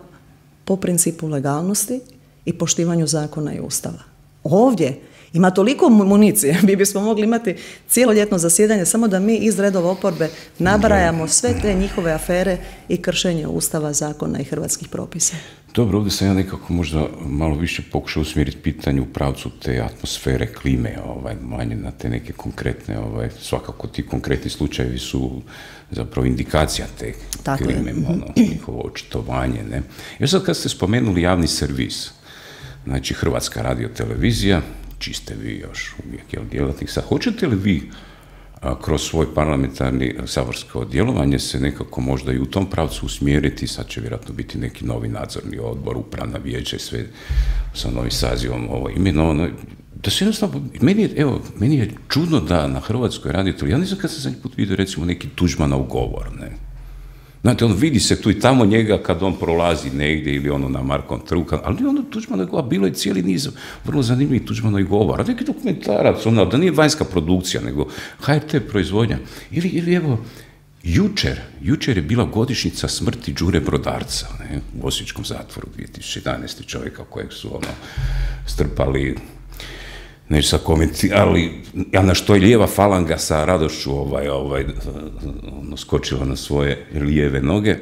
po principu legalnosti i poštivanju zakona i ustava. Ovdje ima toliko municije, mi bismo mogli imati cijeloljetno zasjedanje samo da mi iz redova oporbe nabrajamo sve te njihove afere i kršenje ustava, zakona i hrvatskih propisa. Dobro, ovdje sam ja nekako možda malo više pokušao usmjeriti pitanje u pravcu te atmosfere, klime, ovaj, manje na te neke konkretne, ovaj, svakako ti konkretni slučajevi su zapravo indikacija te Tako klime, ono, njihovo očitovanje. Ne? Jer sad kad ste spomenuli javni servis, znači Hrvatska radiotelevizija, čiji ste vi još uvijek jel, djelatnik, sad hoćete li vi a, kroz svoj parlamentarni saborsko djelovanje se nekako možda i u tom pravcu usmjeriti, sad će vjerojatno biti neki novi nadzorni odbor, upravna vijeća i sve sa novim sazivom ovo imenovano, da se jednostavno, meni je, evo, meni je čudno da na Hrvatskoj radioteleviziji, ja nisam kad sam zadnji put vidio recimo neki Tuđmanov govor, ne. Znate, on vidi se tu i tamo njega kad on prolazi negdje ili ono na Markovom trgu, ali ono Tuđmanov govor, bilo je cijeli niz vrlo zanimljivih Tuđmanov govora, neki dokumentarac, ono, da nije vanjska produkcija, nego H R T proizvodnja. Ili, ili evo, jučer, jučer je bila godišnjica smrti Đure Brodarca, ne, u Osječkom zatvoru dvije tisuće jedanaeste. čovjeka kojeg su ono strpali, neću sad komentirati, ali ja na što je lijeva falanga sa radošću ovaj, ovaj, ono, skočila na svoje lijeve noge.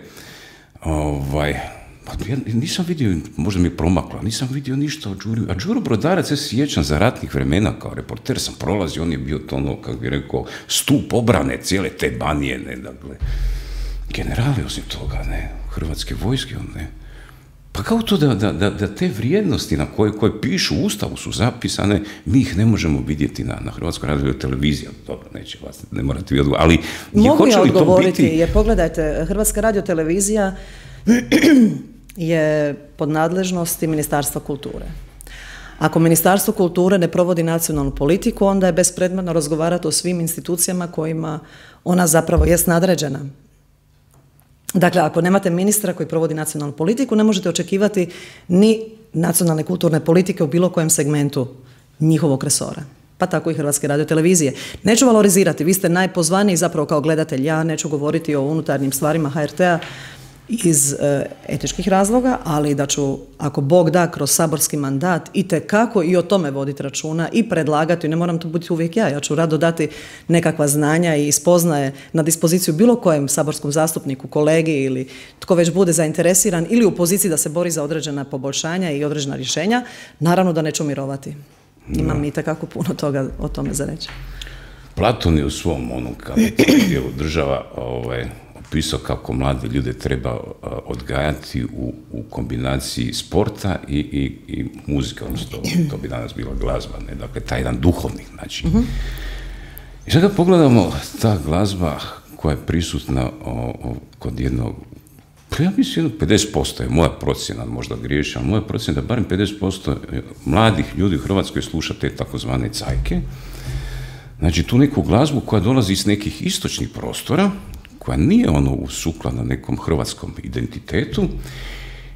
Ovaj, pa ja nisam vidio, možda mi je promakla, nisam vidio ništa o Đuri. A Đuro Brodarac, ja se sjećam za ratnih vremena, kao reporter sam prolazio, on je bio to ono, kako bi rekao, stup obrane cijele te Banije, ne, dakle, generali osim toga, ne, hrvatske vojske, on, ne. Pa kao to da, da, da, da te vrijednosti na koje, koje pišu u Ustavu su zapisane, mi ih ne možemo vidjeti na, na Hrvatskoj radioteleviziji. Dobro, neće vas, ne morate vi odgovoriti, ali mogu hoće ja li to odgovoriti, biti... jer pogledajte, Hrvatska radiotelevizija je pod nadležnosti Ministarstva kulture. Ako Ministarstvo kulture ne provodi nacionalnu politiku, onda je bespredmetno razgovarati o svim institucijama kojima ona zapravo jest nadređena. Dakle, ako nemate ministra koji provodi nacionalnu politiku, ne možete očekivati ni nacionalne kulturne politike u bilo kojem segmentu njihovog resora. Pa tako i Hrvatske radiotelevizije. Neću valorizirati, vi ste najpozvaniji zapravo kao gledatelj. Ja neću govoriti o unutarnjim stvarima H R T-a iz e, etičkih razloga, ali da ću, ako Bog da, kroz saborski mandat itekako i o tome voditi računa i predlagati, ne moram to biti uvijek ja, ja ću rado dati nekakva znanja i spoznaje na dispoziciju bilo kojem saborskom zastupniku, kolegi ili tko već bude zainteresiran ili u poziciji da se bori za određena poboljšanja i određena rješenja, naravno da neću mirovati. Imam itekako puno toga o tome za reći. Platon je u svom onom dijelu država ovaj, opisao kako mlade ljude treba odgajati u, u kombinaciji sporta i, i, i muzike, odnosno to bi danas bila glazba, ne? Dakle, taj jedan duhovni način. Uh-huh. I sad kad pogledamo ta glazba koja je prisutna o, o, kod jednog, pa ja mislim pedeset posto je moja procjena, možda griješim, ali moja procjena da barem pedeset posto mladih ljudi u Hrvatskoj sluša te takozvane cajke. Znači, tu neku glazbu koja dolazi iz nekih istočnih prostora, koja nije ono sukladna nekom hrvatskom identitetu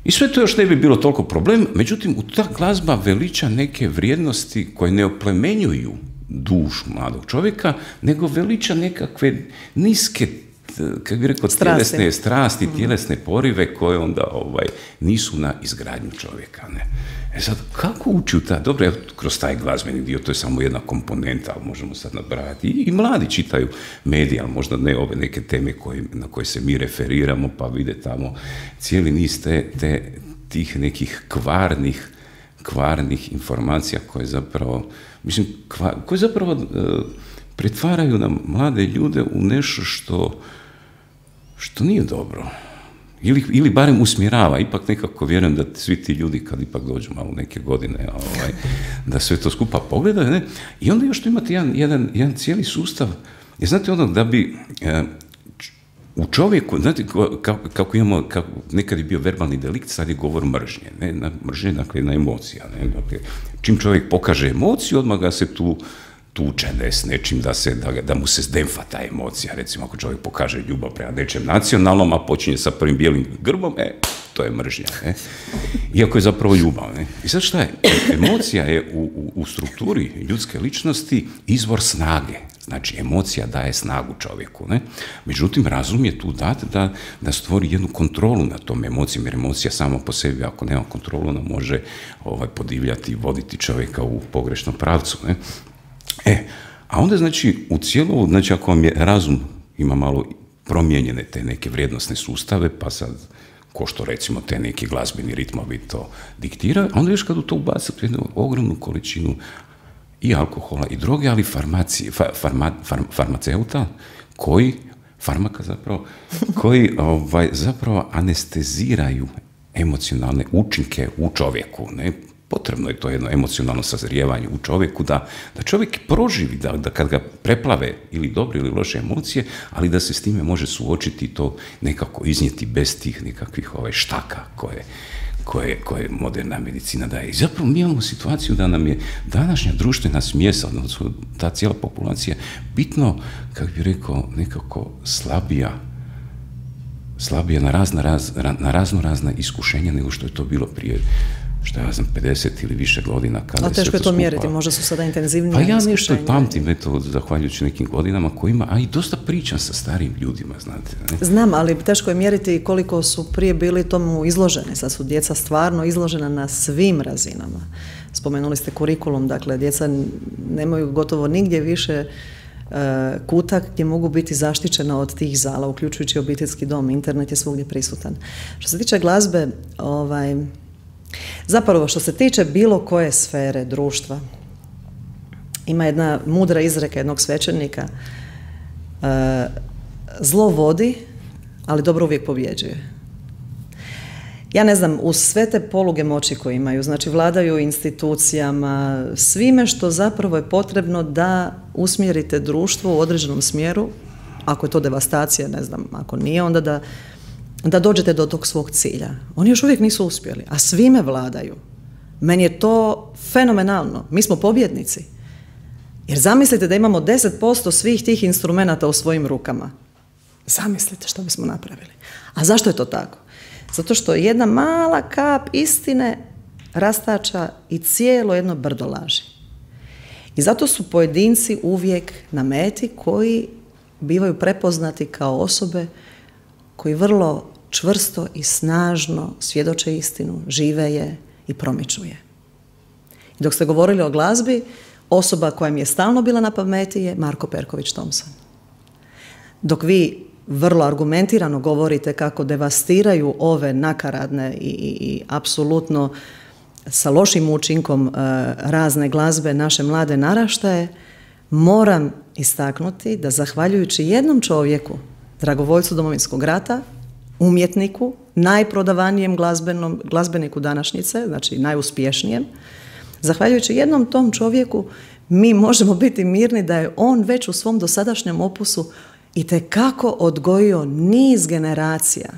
i sve to još ne bi bilo toliko problem, međutim, u ta glazba veliča neke vrijednosti koje ne oplemenjuju dušu mladog čovjeka, nego veliča nekakve niske, kako bi rekao, tjelesne strasti, tjelesne porive koje onda ovaj, nisu na izgradnju čovjeka. Ne? E sad, kako ući u ta, dobro, evo, kroz taj glazbeni dio, to je samo jedna komponenta, ali možemo sad nabrajati. I, i mladi čitaju medije, ali možda ne ove neke teme koje, na koje se mi referiramo, pa vide tamo cijeli niz te, te, tih nekih kvarnih, kvarnih informacija koje zapravo, mislim, kvar, koje zapravo uh, pretvaraju nam mlade ljude u nešto što, što nije dobro. Ili, ili barem usmjerava, ipak nekako vjerujem da svi ti ljudi kad ipak dođu malo neke godine, ovaj, da sve to skupa pogledaju, ne? I onda još tu imate jedan, jedan, jedan cijeli sustav, jer znate ono da bi e, u čovjeku, znate kako, kako imamo, kako, nekad je bio verbalni delikt, sad je govor mržnje, ne, na mržnje, dakle na emocija, ne, dakle, čim čovjek pokaže emociju, odmah ga se tu tuče ne, s nečim da, se, da, da mu se zdemfa ta emocija. Recimo, ako čovjek pokaže ljubav prema nečem nacionalnom, a počinje sa prvim bijelim grbom, e, to je mržnja. Ne? Iako je zapravo ljubav. Ne? I sad šta je? Emocija je u, u, u strukturi ljudske ličnosti izvor snage. Znači, emocija daje snagu čovjeku. Ne? Međutim, razum je tu dat da, da stvori jednu kontrolu nad tom emocijom, jer emocija sama po sebi, ako nema kontrolu, ona može ovaj, podivljati i voditi čovjeka u pogrešnom pravcu. Ne? E, a onda znači u cijelu, znači ako vam je razum ima malo promijenjene te neke vrijednosne sustave, pa sad, ko što recimo te neki glazbeni ritmovi to diktiraju, a onda još kad u to ubacite jednu ogromnu količinu i alkohola i droge, ali farmacije, fa, farma, farm, farmaceuta koji, farmaka zapravo, koji ovaj, zapravo anesteziraju emocionalne učinke u čovjeku, ne? Potrebno je to jedno emocionalno sazrijevanje u čovjeku, da, da čovjek proživi, da, da kad ga preplave ili dobre ili loše emocije, ali da se s time može suočiti i to nekako iznijeti bez tih nekakvih ovaj, štaka koje, koje, koje moderna medicina daje. I zapravo mi imamo situaciju da nam je današnja društvena smjesa, odnosno ta cijela populacija, bitno, kako bih rekao, nekako slabija, slabija na razno, raz, na razno razna iskušenja nego što je to bilo prije, što ja znam, pedeset ili više godina. Kada a teško je to mjeriti, možda su sada intenzivnije. Pa ja nešto pamtim, eto, zahvaljujući nekim godinama kojima, a i dosta pričam sa starijim ljudima, znate. Ne? Znam, ali teško je mjeriti koliko su prije bili tomu izloženi. Sad su djeca stvarno izložena na svim razinama. Spomenuli ste kurikulum, dakle, djeca nemaju gotovo nigdje više uh, kutak gdje mogu biti zaštićena od tih zala, uključujući obiteljski dom, internet je svugdje prisutan. Što se tiče glazbe, ovaj... Zapravo, što se tiče bilo koje sfere društva, ima jedna mudra izreka jednog svećenika, e, zlo vodi, ali dobro uvijek pobjeđuje. Ja ne znam, uz sve te poluge moći koje imaju, znači vladaju institucijama, svime što zapravo je potrebno da usmjerite društvo u određenom smjeru, ako je to devastacija, ne znam, ako nije, onda da da dođete do tog svog cilja. Oni još uvijek nisu uspjeli, a svime vladaju. Meni je to fenomenalno. Mi smo pobjednici. Jer zamislite da imamo deset posto svih tih instrumenata u svojim rukama. Zamislite što bismo napravili. A zašto je to tako? Zato što jedna mala kap istine rastača i cijelo jedno brdo laži. I zato su pojedinci uvijek na meti koji bivaju prepoznati kao osobe koji vrlo čvrsto i snažno svjedoče istinu, žive je i promiču je. I dok ste govorili o glazbi, osoba koja mi je stalno bila na pameti je Marko Perković Thompson. Dok vi vrlo argumentirano govorite kako devastiraju ove nakaradne i, i, i apsolutno sa lošim učinkom uh, razne glazbe naše mlade naraštaje, moram istaknuti da zahvaljujući jednom čovjeku, dragovoljcu Domovinskog rata, umjetniku, najprodavanijem glazbenom, glazbeniku današnjice, znači najuspješnijem, zahvaljujući jednom tom čovjeku mi možemo biti mirni da je on već u svom dosadašnjem opusu itekako odgojio niz generacija.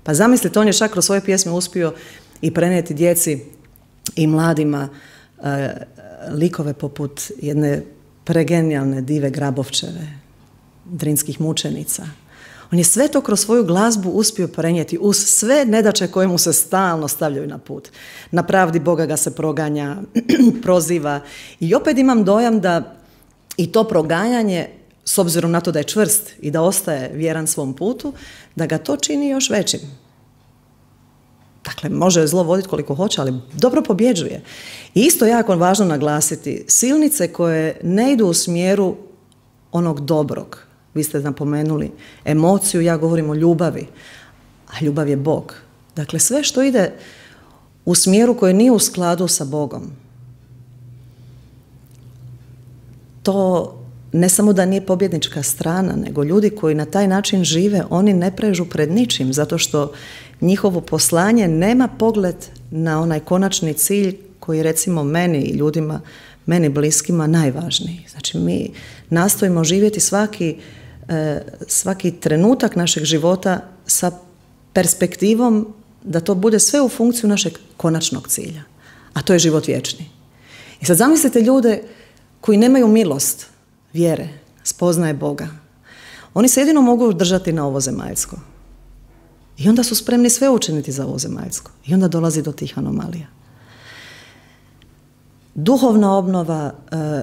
Pa zamislite, on je čak kroz svoje pjesme uspio i prenijeti djeci i mladima e, likove poput jedne pregenijalne Dive Grabovčeve, Drinskih mučenica. On je sve to kroz svoju glazbu uspio prenijeti uz sve nedaće koje mu se stalno stavljaju na put. Na pravdi Boga ga se proganja, proziva i opet imam dojam da i to proganjanje, s obzirom na to da je čvrst i da ostaje vjeran svom putu, da ga to čini još većim. Dakle, može zlo voditi koliko hoće, ali dobro pobjeđuje. I isto jako važno naglasiti, silnice koje ne idu u smjeru onog dobrog, vi ste napomenuli emociju, ja govorim o ljubavi, a ljubav je Bog. Dakle, sve što ide u smjeru koji nije u skladu sa Bogom, to ne samo da nije pobjednička strana, nego ljudi koji na taj način žive, oni ne prežu pred ničim, zato što njihovo poslanje nema pogled na onaj konačni cilj koji recimo meni i ljudima, meni bliskima najvažniji. Znači mi nastojimo živjeti svaki, eh, svaki trenutak našeg života sa perspektivom da to bude sve u funkciju našeg konačnog cilja, a to je život vječni. I sad zamislite ljude koji nemaju milost, vjere, spoznaje Boga. Oni se jedino mogu držati na ovo zemaljsko. I onda su spremni sve učiniti za ovo zemaljsko. I onda dolazi do tih anomalija. Duhovna obnova,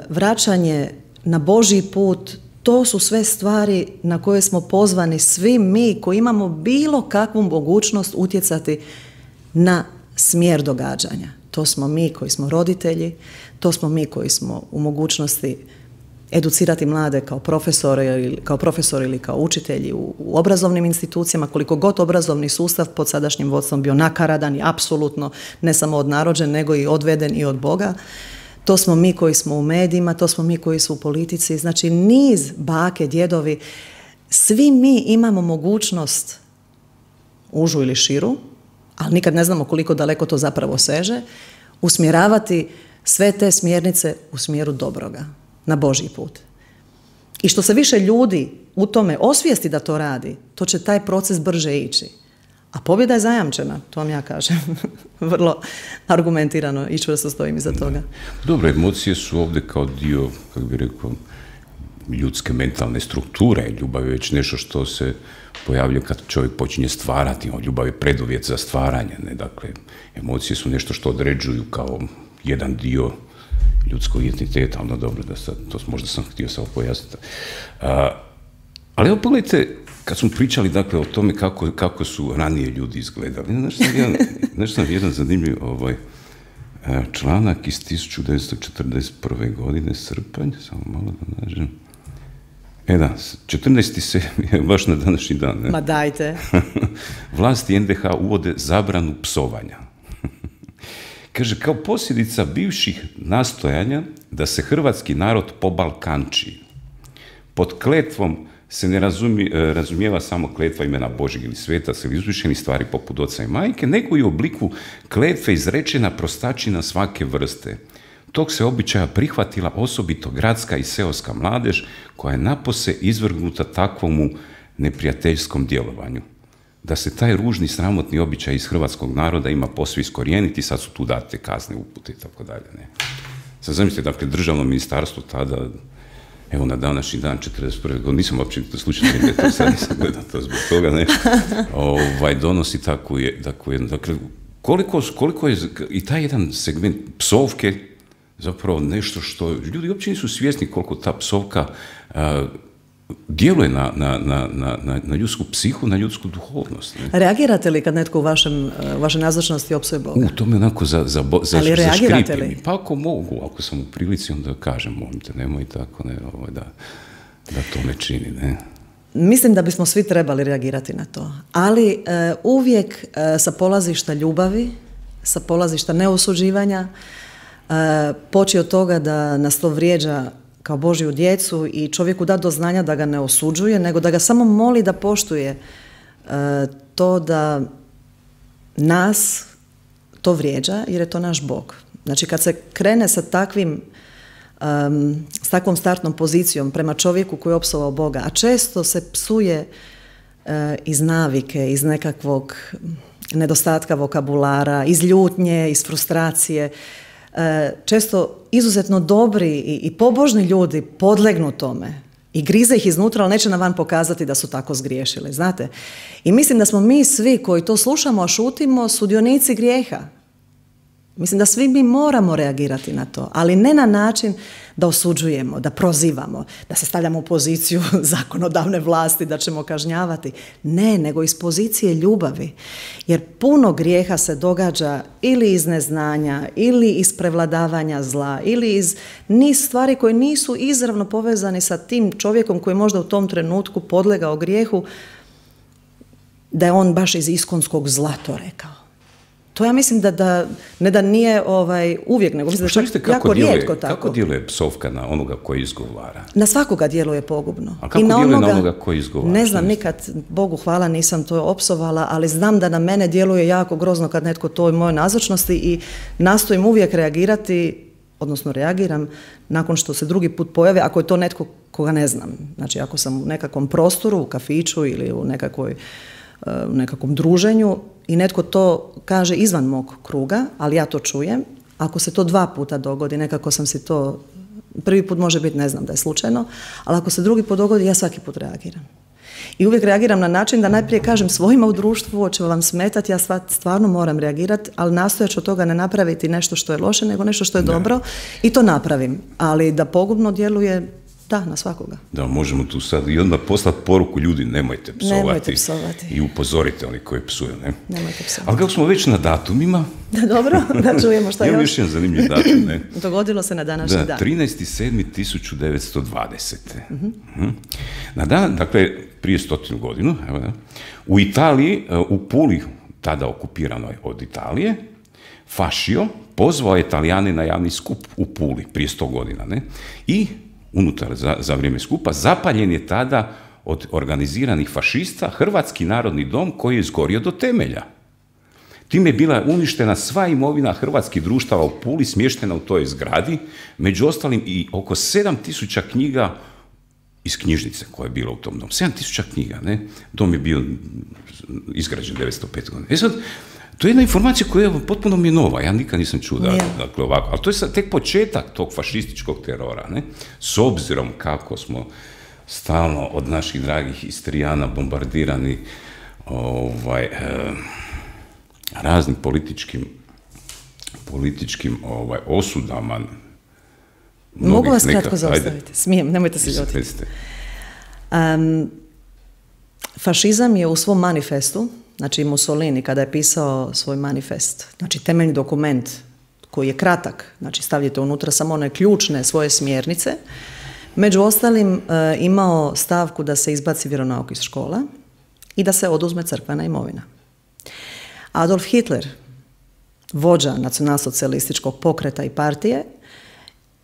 vraćanje na Božji put, to su sve stvari na koje smo pozvani svi mi koji imamo bilo kakvu mogućnost utjecati na smjer događanja. To smo mi koji smo roditelji, to smo mi koji smo u mogućnosti educirati mlade kao profesori, kao profesori ili kao učitelji u, u obrazovnim institucijama, koliko god obrazovni sustav pod sadašnjim vodstvom bio nakaradan i apsolutno ne samo odnarođen, nego i odveden i od Boga. To smo mi koji smo u medijima, to smo mi koji su u politici, znači niz bake, djedovi, svi mi imamo mogućnost, užu ili širu, ali nikad ne znamo koliko daleko to zapravo seže, usmjeravati sve te smjernice u smjeru dobroga, na Božji put. I što se više ljudi u tome osvijesti da to radi, to će taj proces brže ići. A pobjeda je zajamčena, to vam ja kažem. Vrlo argumentirano i čvrsto stojim iza toga. Dobro, emocije su ovdje kao dio, kako bih rekao, ljudske mentalne strukture. Ljubav je već nešto što se pojavljuje kad čovjek počinje stvarati. Ljubav je preduvjet za stvaranje. Ne? Dakle, emocije su nešto što određuju kao jedan dio ljudskog identiteta. Ono dobro, da sad, to možda sam htio samo pojasniti. A, ali evo pogledajte, kad smo pričali dakle, o tome kako, kako su ranije ljudi izgledali, znaš sam jedan, znaš sam jedan zanimljiv ovaj, članak iz tisuću devetsto četrdeset prve. godine, srpanj, samo malo da nađem. E da, četrnaesti sedmi je baš na današnji dan. Ne? Ma dajte. Vlasti en de ha uvode zabranu psovanja. Kaže, kao posljedica bivših nastojanja da se hrvatski narod pobalkanči. Pod kletvom se ne razumi, razumijeva samo kletva imena Božjeg ili svetaca ili uzvišenih stvari poput oca i majke, nego i u obliku kletve izrečena prostačina svake vrste. Tog se običaja prihvatila osobito gradska i seoska mladež koja je napose izvrgnuta takvomu neprijateljskom djelovanju. Da se taj ružni, sramotni običaj iz hrvatskog naroda ima posve iskorijeniti, sad su tu date kazne, upute i tako dalje. Ne. Sad zamislite, dakle, državno ministarstvo tada, evo na današnji dan, četrdeset prve. godine, nisam uopće slučajno vidio to, sad nisam gledao to zbog toga, ne, ovaj, donosi takvu, je, takvu jednu, dakle, koliko, koliko je i taj jedan segment psovke zapravo nešto što ljudi uopće nisu svjesni koliko ta psovka a, djeluje na, na, na, na, na ljudsku psihu, na ljudsku duhovnost. Ne? Reagirate li kad netko u vašem, vašoj nazočnosti opsuje Boga? U, to me onako za, za, za, Ali reagirate li? Pa ako mogu, ako sam u prilici, onda kažem, molim te, nemoj tako, ne, ovo, da, da to ne čini, ne. Mislim da bismo svi trebali reagirati na to, ali e, uvijek e, sa polazišta ljubavi, sa polazišta neosuđivanja, e, poći od toga da nas to vrijeđa kao Božju djecu i čovjeku da do znanja da ga ne osuđuje, nego da ga samo moli da poštuje e, to da nas to vrijeđa, jer je to naš Bog. Znači kad se krene sa takvim um, s takvom startnom pozicijom prema čovjeku koji je opsovao Boga, a često se psuje uh, iz navike, iz nekakvog nedostatka vokabulara, iz ljutnje, iz frustracije, često izuzetno dobri i, i pobožni ljudi podlegnu tome i grize ih iznutra, ali neće na van pokazati da su tako zgriješili, znate. I mislim da smo mi svi koji to slušamo, a šutimo, sudionici grijeha. Mislim da svi mi moramo reagirati na to, ali ne na način da osuđujemo, da prozivamo, da se stavljamo u poziciju zakonodavne vlasti, da ćemo kažnjavati. Ne, nego iz pozicije ljubavi. Jer puno grijeha se događa ili iz neznanja, ili iz prevladavanja zla, ili iz niz stvari koje nisu izravno povezani sa tim čovjekom koji možda u tom trenutku podlegao grijehu, da je on baš iz iskonskog zla to rekao. To ja mislim da, da ne da nije ovaj, uvijek, nego mislim da je jako rijetko tako. Kako djeluje psovka na onoga koji izgovara? Na svakoga djeluje pogubno. A kako I na djeluje onoga, na onoga koji izgovara? Ne znam, nikad, Bogu hvala, nisam to opsovala, ali znam da na mene djeluje jako grozno kad netko to u mojoj nazočnosti i nastojim uvijek reagirati, odnosno reagiram nakon što se drugi put pojave, ako je to netko koga ne znam. Znači, ako sam u nekakvom prostoru, u kafiću ili u nekakvoj, u nekakvom druženju i netko to kaže izvan mog kruga, ali ja to čujem, ako se to dva puta dogodi, nekako sam si to, prvi put može biti, ne znam da je slučajno, ali ako se drugi put dogodi, ja svaki put reagiram. I uvijek reagiram na način da najprije kažem svojima u društvu, ovo će vam smetati, ja stvarno moram reagirati, ali nastojat ću od toga ne napraviti nešto što je loše, nego nešto što je dobro i to napravim. Ali da pogubno djeluje, da, na svakoga. Da, možemo tu sad i odmah poslati poruku, ljudi, nemojte psovati. Nemojte psovati. I upozorite oni koji psuju, ne? Nemojte psovati. Ali kako smo već na datumima... Da, dobro, da čujemo šta još. Imam još jedan zanimljiv datum, ne? Dogodilo se na današnji da, dan. trinaesti sedmi tisuće devetsto dvadesete. Uh-huh. Na dan, dakle, prije stotinu godinu, evo da, u Italiji, u Puli, tada okupiranoj od Italije, Fascio pozvao je Italijane na javni skup u Puli prije sto godina, ne? I unutar za, za vrijeme skupa zapaljen je tada od organiziranih fašista Hrvatski narodni dom koji je izgorio do temelja. Time je bila uništena sva imovina hrvatskih društava u Puli, smještena u toj zgradi, među ostalim i oko sedam tisuća knjiga iz knjižnice koja je bila u tom domu. sedam tisuća knjiga, ne? Dom je bio izgrađen devetsto pete. godine. E sad, to je jedna informacija koja je potpuno mi je nova, ja nikad nisam čuo da, dakle, ovako, ali to je sad tek početak tog fašističkog terora, ne? S obzirom kako smo stalno od naših dragih Istrijana bombardirani ovaj, eh, raznim političkim, političkim ovaj, osudama. Mogu vas kratko nekak, zaustaviti? Smijem, nemojte se ljutiti. Um, fašizam je u svom manifestu, znači Mussolini kada je pisao svoj manifest, znači temeljni dokument koji je kratak, znači stavljate unutra samo one ključne svoje smjernice, među ostalim e, imao stavku da se izbaci vjeronauk iz škola i da se oduzme crkvena imovina. Adolf Hitler, vođa nacionalsocijalističkog pokreta i partije,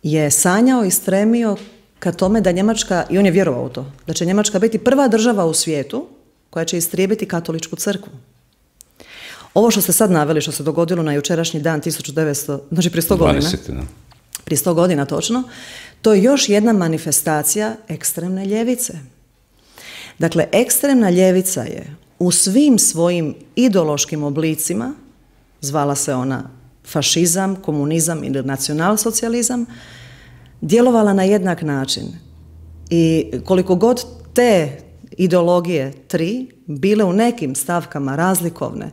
je sanjao i stremio ka tome da Njemačka, i on je vjerovao u to, da će Njemačka biti prva država u svijetu koja će istrijebiti katoličku crkvu. Ovo što ste sad naveli, što se dogodilo na jučerašnji dan tisuću devetsto, znači prije sto godina, prije sto godina točno, to je još jedna manifestacija ekstremne ljevice. Dakle, ekstremna ljevica je u svim svojim ideološkim oblicima, zvala se ona fašizam, komunizam ili nacionalsocijalizam, djelovala na jednak način. I koliko god te ideologije tri bile u nekim stavkama razlikovne,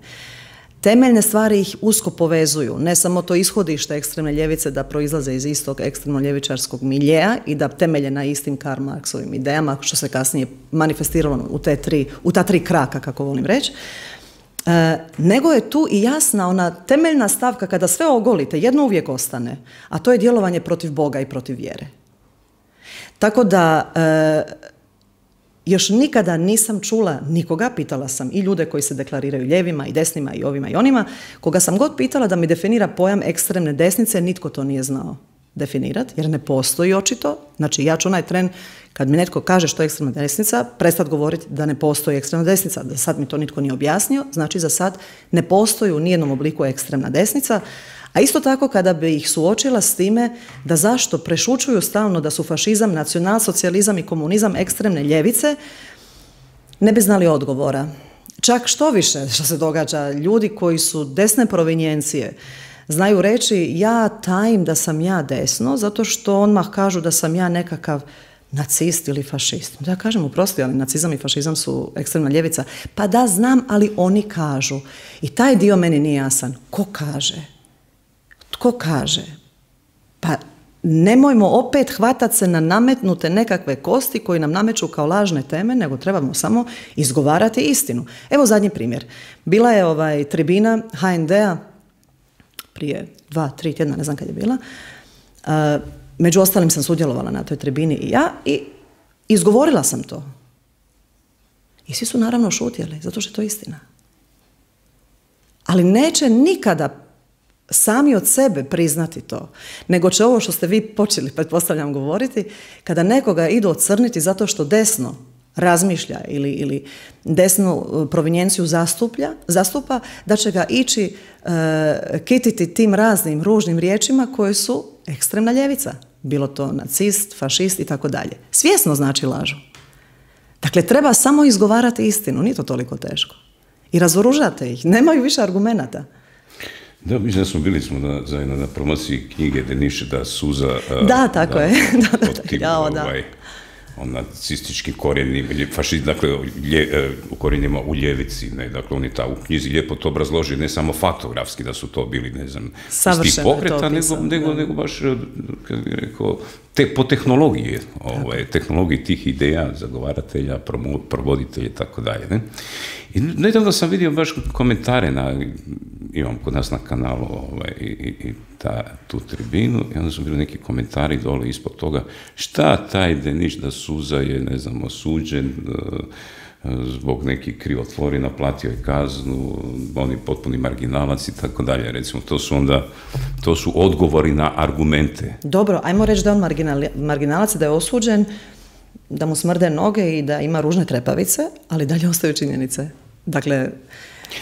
temeljne stvari ih usko povezuju. Ne samo to ishodište ekstremne ljevice da proizlaze iz istog ekstremno-ljevičarskog miljeja i da temelje na istim Karl Marxovim idejama, što se kasnije manifestiralo u, te tri, u ta tri kraka, kako volim reći, e, nego je tu i jasna ona temeljna stavka kada sve ogolite, jedno uvijek ostane, a to je djelovanje protiv Boga i protiv vjere. Tako da... E, Još nikada nisam čula nikoga, pitala sam i ljude koji se deklariraju ljevima i desnima i ovima i onima, koga sam god pitala da mi definira pojam ekstremne desnice, nitko to nije znao definirati, jer ne postoji očito. Znači ja ću onaj tren, kad mi netko kaže što je ekstremna desnica, prestati govoriti da ne postoji ekstremna desnica, da sad mi to nitko nije objasnio, znači za sad ne postoji u nijednom obliku ekstremna desnica. A isto tako kada bi ih suočila s time da zašto prešućuju stalno da su fašizam, nacionalsocijalizam i komunizam ekstremne ljevice, ne bi znali odgovora. Čak što više što se događa, ljudi koji su desne provinjencije znaju reći ja tajim da sam ja desno zato što odmah kažu da sam ja nekakav nacist ili fašist. Da ja kažem, oprosti, ali nacizam i fašizam su ekstremna ljevica. Pa da, znam, ali oni kažu. I taj dio meni nije jasan. Ko kaže? Tko kaže? Pa nemojmo opet hvatati se na nametnute nekakve kosti koji nam nameću kao lažne teme, nego trebamo samo izgovarati istinu. Evo zadnji primjer. Bila je ovaj tribina ha en de-a prije dva, tri tjedna, ne znam kad je bila. Uh, među ostalim sam sudjelovala na toj tribini i ja i izgovorila sam to. I svi su naravno šutjeli, zato što je to istina. ali neće nikada sami od sebe priznati to, nego će ovo što ste vi počeli, pretpostavljam, govoriti, kada nekoga idu ocrniti zato što desno razmišlja ili, ili desnu provinjenciju zastuplja, zastupa, da će ga ići e, kititi tim raznim ružnim riječima koje su ekstremna ljevica. Bilo to nacist, fašist i tako dalje. Svjesno znači lažu. Dakle, treba samo izgovarati istinu, nije to toliko teško. I razoružate ih, nemaju više argumenata. Da, mislim da smo bili smo na, zajedno na promociji knjige Deniše da suza... Da, tako da, je. da, da, tim, jao, da. Ovaj, on nacistički korijeni, fašist, dakle, lje, u korijenima u ljevici, ne, dakle, on je ta u knjizi lijepo to obrazloži, ne samo faktografski da su to bili, ne znam, iz tih pokreta, nego, nego, nego baš, kako bih rekao, te, po tehnologiji, ovaj, tehnologiji tih ideja, zagovaratelja, promo, provoditelja i tako dalje, ne. I nedavno sam vidio baš komentare na, imam kod nas na kanalu ovaj, i, i ta, tu tribinu, i onda su bili neki komentari dole ispod toga, šta taj Deniš da suza je, ne znam, osuđen uh, zbog nekih krivotvori, naplatio je kaznu, oni potpuni marginalac i tako dalje, recimo, to su onda, to su odgovori na argumente. Dobro, ajmo reći da je on marginalac, da je osuđen, da mu smrde noge i da ima ružne trepavice, ali dalje ostaju činjenice. Dakle,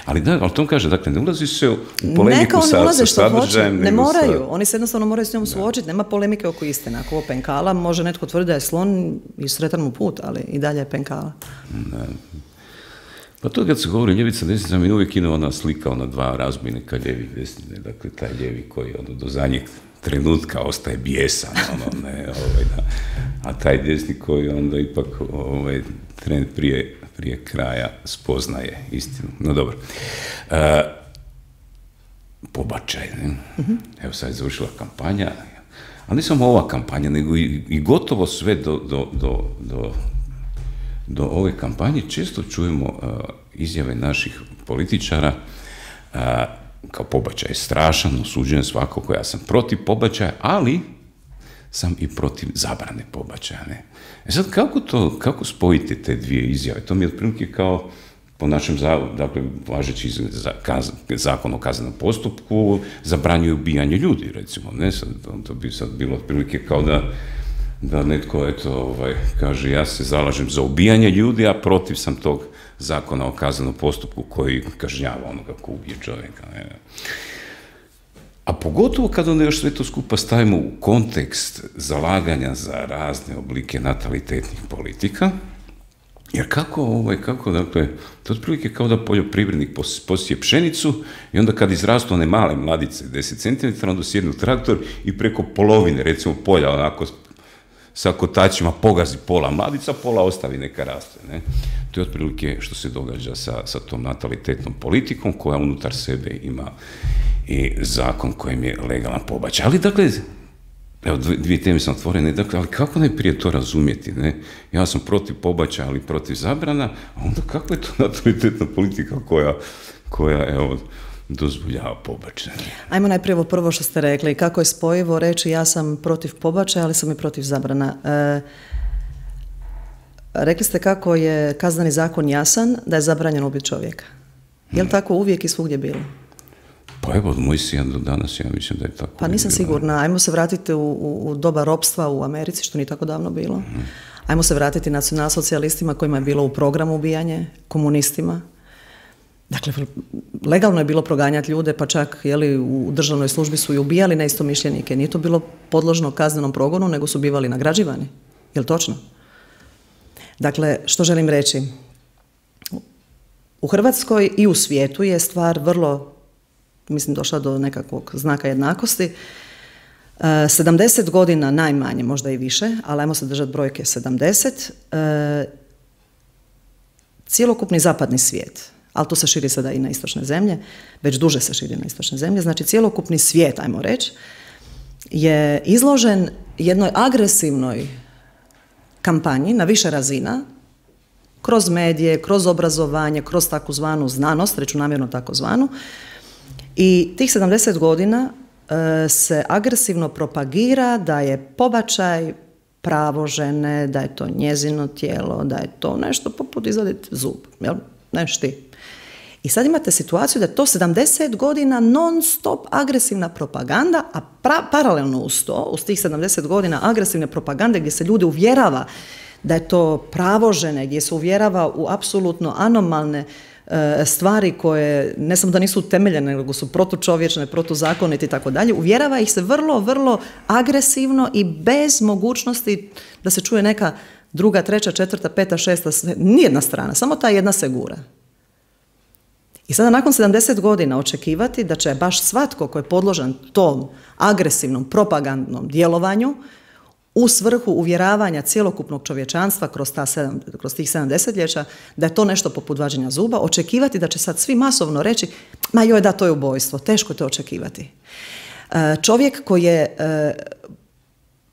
ali da, ali to kaže, dakle, ne ulazi se u polemiku sa, sa sadržajem. Ne moraju, sa... oni se jednostavno moraju s njom suočiti, nema polemike oko istine. Ako ovo penkala, može netko tvrditi da je slon i sretan mu put, ali i dalje je penkala. Da. Pa to kad se govori ljevica, desnica, mi uvijek ide ona slika, ona dva razbojnika ljevi desnine, dakle, taj ljevi koji ono, do zadnjeg trenutka ostaje bijesan, ono, ne, ovaj, da. A taj desni koji onda ipak ovaj, trend prije prije kraja spoznaje istinu. No dobro. E, pobačaj, ne? Mm-hmm. Evo sad je završila kampanja, ali ne samo ova kampanja, nego i, i gotovo sve do, do, do, do, do ove kampanje često čujemo uh, izjave naših političara uh, kao pobačaj je strašan, osuđujem svakako, ja sam protiv pobačaja, ali sam i protiv zabrane pobačaja, ne? E sad, kako to, kako spojite te dvije izjave? To mi je otprilike kao po našem, dakle, važeći zakon o kaznenom postupku zabranjuje ubijanje ljudi, recimo, ne? Sad, to bi sad bilo otprilike kao da, da netko, eto, ovaj, kaže, ja se zalažem za ubijanje ljudi, a protiv sam tog zakona o kaznenom postupku koji kažnjava onoga ko ubije čovjeka, ne? A pogotovo kada onda još sve to skupa stavimo u kontekst zalaganja za razne oblike natalitetnih politika, jer kako, ovaj, kako, dakle, to je otprilike kao da poljoprivrednik posije pšenicu i onda kad izrastu one male mladice, deset centimetara, onda sjednu traktor i preko polovine, recimo polja, onako, sa kotačima pogazi pola mladica, pola ostavi neka raste, ne? To je otprilike što se događa sa, sa tom natalitetnom politikom koja unutar sebe ima i zakon kojim je legalan pobačaj. Ali, dakle, evo, dvije teme sam otvorene, dakle, ali kako najprije to razumjeti, ne? Ja sam protiv pobačaja, ali protiv zabrana, a onda kako je to natalitetna politika koja, koja evo, dozvoljava pobačaj? Ajmo najprije ovo prvo što ste rekli, kako je spojivo reći ja sam protiv pobačaja, ali sam i protiv zabrana. E, rekli ste kako je kazneni zakon jasan, da je zabranjeno ubiti čovjeka. Je li tako uvijek i svugdje bilo? Pa evo, od Mojsija do danas ja mislim da je tako. Pa nisam sigurna. Ajmo se vratiti u, u, u doba ropstva u Americi, što nije tako davno bilo. Mm. Ajmo se vratiti nacionalsocijalistima kojima je bilo u programu ubijanje, komunistima. Dakle, legalno je bilo proganjati ljude, pa čak jeli, u državnoj službi su i ubijali neistomišljenike. Nije to bilo podložno kaznenom progonu, nego su bivali nagrađivani. Je li točno? Dakle, što želim reći? U Hrvatskoj i u svijetu je stvar vrlo, mislim, došla do nekakvog znaka jednakosti. sedamdeset godina najmanje, možda i više, ali ajmo se držati brojke sedamdeset, cjelokupni zapadni svijet, ali to se širi sada i na istočne zemlje, već duže se širi na istočne zemlje, znači cjelokupni svijet, ajmo reći, je izložen jednoj agresivnoj kampanji na više razina, kroz medije, kroz obrazovanje, kroz takozvanu znanost, reću namjerno takozvanu, i tih sedamdeset godina e, se agresivno propagira da je pobačaj pravo žene, da je to njezino tijelo, da je to nešto poput izvaditi zub, jel? Neš ti. I sad imate situaciju da je to sedamdeset godina non stop agresivna propaganda, a pra, paralelno uz to, uz tih sedamdeset godina agresivne propagande gdje se ljude uvjerava da je to pravo žene, gdje se uvjerava u apsolutno anomalne e, stvari koje ne samo da nisu utemeljene, nego su protučovječne, protuzakonite i tako dalje, uvjerava ih se vrlo, vrlo agresivno i bez mogućnosti da se čuje neka druga, treća, četvrta, peta, šesta, nijedna strana, samo ta jedna se gura. I sada nakon sedamdeset godina očekivati da će baš svatko ko je podložan tom agresivnom, propagandnom djelovanju u svrhu uvjeravanja cjelokupnog čovječanstva kroz, ta sedam, kroz tih sedam desetljeća, da je to nešto poput vađenja zuba, očekivati da će sad svi masovno reći, ma joj da, to je ubojstvo, teško je to očekivati. Čovjek koji je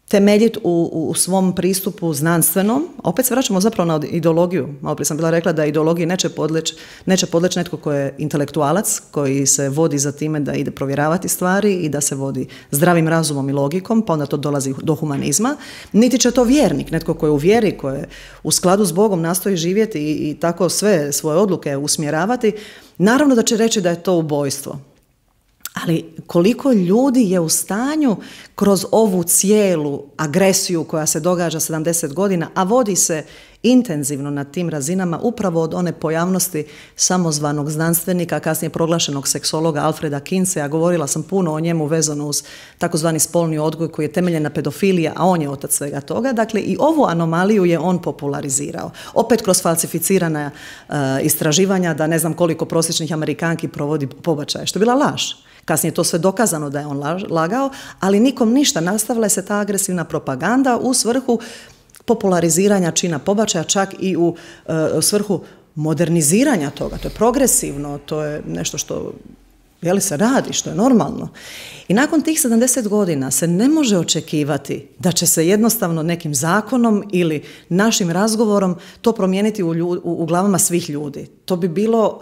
temeljit u, u svom pristupu znanstvenom, opet se vraćamo zapravo na ideologiju. Malo prije sam bila rekla da ideologiji neće podleći neće podleć netko koji je intelektualac, koji se vodi za time da ide provjeravati stvari i da se vodi zdravim razumom i logikom, pa onda to dolazi do humanizma. Niti će to vjernik, netko koji je u vjeri, koji je u skladu s Bogom nastoji živjeti i, i tako sve svoje odluke usmjeravati. Naravno da će reći da je to ubojstvo. Ali koliko ljudi je u stanju kroz ovu cijelu agresiju koja se događa sedamdeset godina, a vodi se intenzivno na tim razinama upravo od one pojavnosti samozvanog znanstvenika, kasnije proglašenog seksologa Alfreda Kinseya, govorila sam puno o njemu vezano uz takozvani spolni odgoj koji je temeljen na pedofiliji, a on je otac svega toga. Dakle, i ovu anomaliju je on popularizirao. Opet kroz falsificirana uh, istraživanja da ne znam koliko prosječnih Amerikanki provodi pobačaje, što je bila laž. Kasnije je to sve dokazano da je on lagao, ali nikom ništa, nastavila se ta agresivna propaganda u svrhu populariziranja čina pobačaja, čak i u uh, svrhu moderniziranja toga. To je progresivno, to je nešto što je li se radi, što je normalno. I nakon tih sedamdeset godina se ne može očekivati da će se jednostavno nekim zakonom ili našim razgovorom to promijeniti u, ljud, u, u glavama svih ljudi. To bi bilo...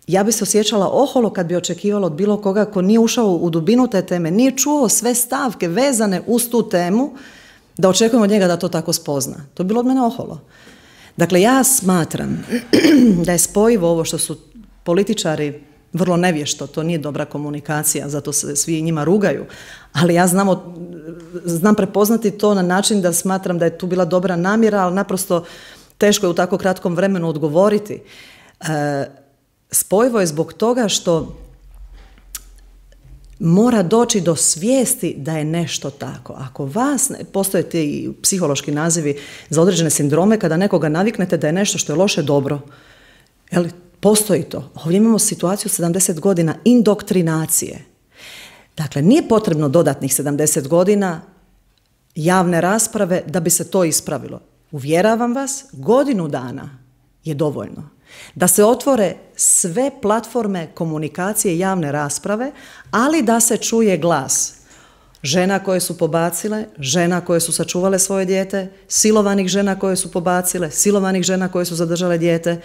Ja bi se osjećala oholo kad bi očekivala od bilo koga ko nije ušao u dubinu te teme, nije čuo sve stavke vezane uz tu temu, da očekujemo od njega da to tako spozna. To bi bilo od mene oholo. Dakle, ja smatram da je spojivo ovo što su političari vrlo nevješto, to nije dobra komunikacija, zato se svi njima rugaju, ali ja znam, znam prepoznati to na način da smatram da je tu bila dobra namjera, ali naprosto teško je u tako kratkom vremenu odgovoriti. E, Spojivo je zbog toga što mora doći do svijesti da je nešto tako. Ako vas, postoje ti psihološki nazivi za određene sindrome, kada nekoga naviknete da je nešto što je loše dobro, jel, postoji to. Ovdje imamo situaciju sedamdeset godina indoktrinacije. Dakle, nije potrebno dodatnih sedamdeset godina javne rasprave da bi se to ispravilo. Uvjeravam vas, godinu dana je dovoljno da se otvore sve platforme komunikacije i javne rasprave, ali da se čuje glas žena koje su pobacile, žena koje su sačuvale svoje dijete, silovanih žena koje su pobacile, silovanih žena koje su zadržale dijete,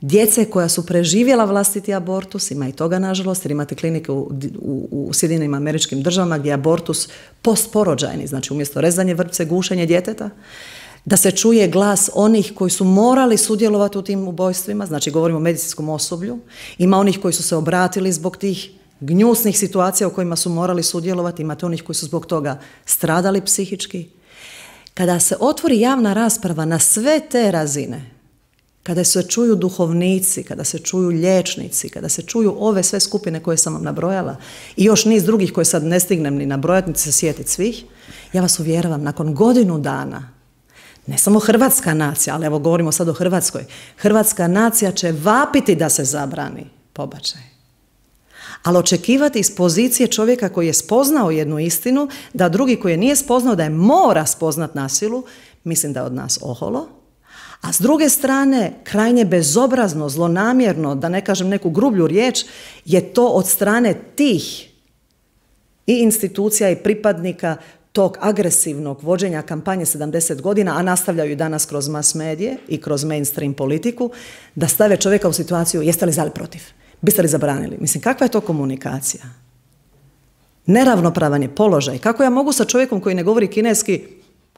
djece koja su preživjela vlastiti abortus, ima i toga nažalost, jer imate klinike u, u, u Sjedinjenim Američkim Državama gdje je abortus postporođajni, znači umjesto rezanje vrpce, gušenje djeteta, da se čuje glas onih koji su morali sudjelovati u tim ubojstvima, znači govorimo o medicinskom osoblju, ima onih koji su se obratili zbog tih gnjusnih situacija u kojima su morali sudjelovati, imate onih koji su zbog toga stradali psihički. Kada se otvori javna rasprava na sve te razine, kada se čuju duhovnici, kada se čuju liječnici, kada se čuju ove sve skupine koje sam vam nabrojala i još niz drugih koje sad ne stignem ni nabrojati, niti se sjetiti svih, ja vas uvjeravam, nakon godinu dana, ne samo hrvatska nacija, ali evo govorimo sad o Hrvatskoj, hrvatska nacija će vapiti da se zabrani pobačaj. Ali očekivati iz pozicije čovjeka koji je spoznao jednu istinu, da drugi koji je nije spoznao, da je mora spoznat na silu, mislim da je od nas oholo. A s druge strane, krajnje bezobrazno, zlonamjerno, da ne kažem neku grublju riječ, je to od strane tih i institucija i pripadnika tog agresivnog vođenja kampanje sedamdeset godina, a nastavljaju i danas kroz mass medije i kroz mainstream politiku, da stave čovjeka u situaciju jeste li za ili protiv, biste li zabranili. Mislim, kakva je to komunikacija? Neravnopravan je položaj. Kako ja mogu sa čovjekom koji ne govori kineski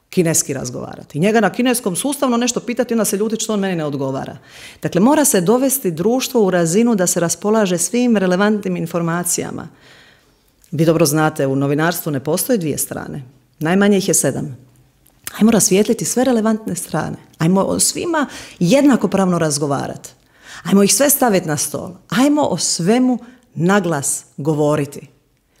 kineski razgovarati. Njega na kineskom sustavno nešto pitati, onda se ljuti što on meni ne odgovara. Dakle, mora se dovesti društvo u razinu da se raspolaže svim relevantnim informacijama. Vi dobro znate, u novinarstvu ne postoje dvije strane. Najmanje ih je sedam. Ajmo rasvijetliti sve relevantne strane. Ajmo o svima jednakopravno razgovarati. Ajmo ih sve staviti na stol. Ajmo o svemu naglas govoriti.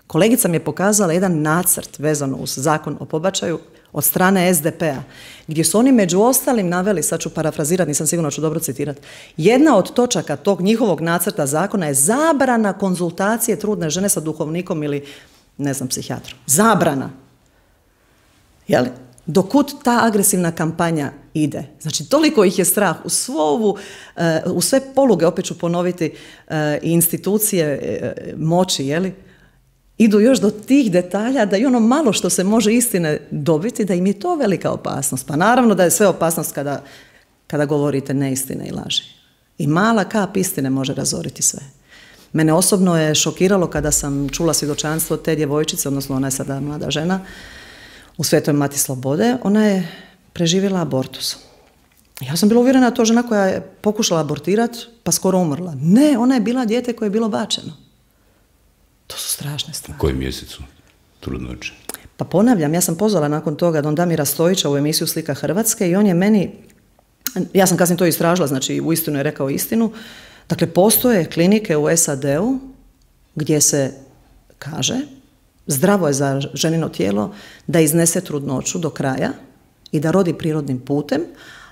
Kolegica mi je pokazala jedan nacrt vezano uz zakon o pobačaju od strane es de pe-a, gdje su oni među ostalim naveli, sad ću parafrazirati, nisam sigurno ću dobro citirati, jedna od točaka tog njihovog nacrta zakona je zabrana konzultacije trudne žene sa duhovnikom ili, ne znam, psihijatrom. Zabrana. Jel? Dokud ta agresivna kampanja ide. Znači, toliko ih je strah u svovu, u sve poluge, opet ću ponoviti, institucije moći, jeli? Idu još do tih detalja da i ono malo što se može istine dobiti, da im je to velika opasnost. Pa naravno da je sve opasnost kada, kada govorite neistine i laži. I mala kap istine može razoriti sve. Mene osobno je šokiralo kada sam čula svjedočanstvo te djevojčice, odnosno ona je sada mlada žena, u Svetoj Mati Slobode. Ona je preživjela abortus. Ja sam bila uvjerena da to žena koja je pokušala abortirati pa skoro umrla. Ne, ona je bila dijete koje je bilo bačeno. To su strašne stvari. U kojem mjesecu trudnoće? Pa ponavljam, ja sam pozvala nakon toga don Damira Stojića u emisiju Slika Hrvatske i on je meni, ja sam kasnije to istražila, znači uistinu je rekao istinu, dakle postoje klinike u es a de-u gdje se kaže zdravo je za ženino tijelo da iznese trudnoću do kraja i da rodi prirodnim putem,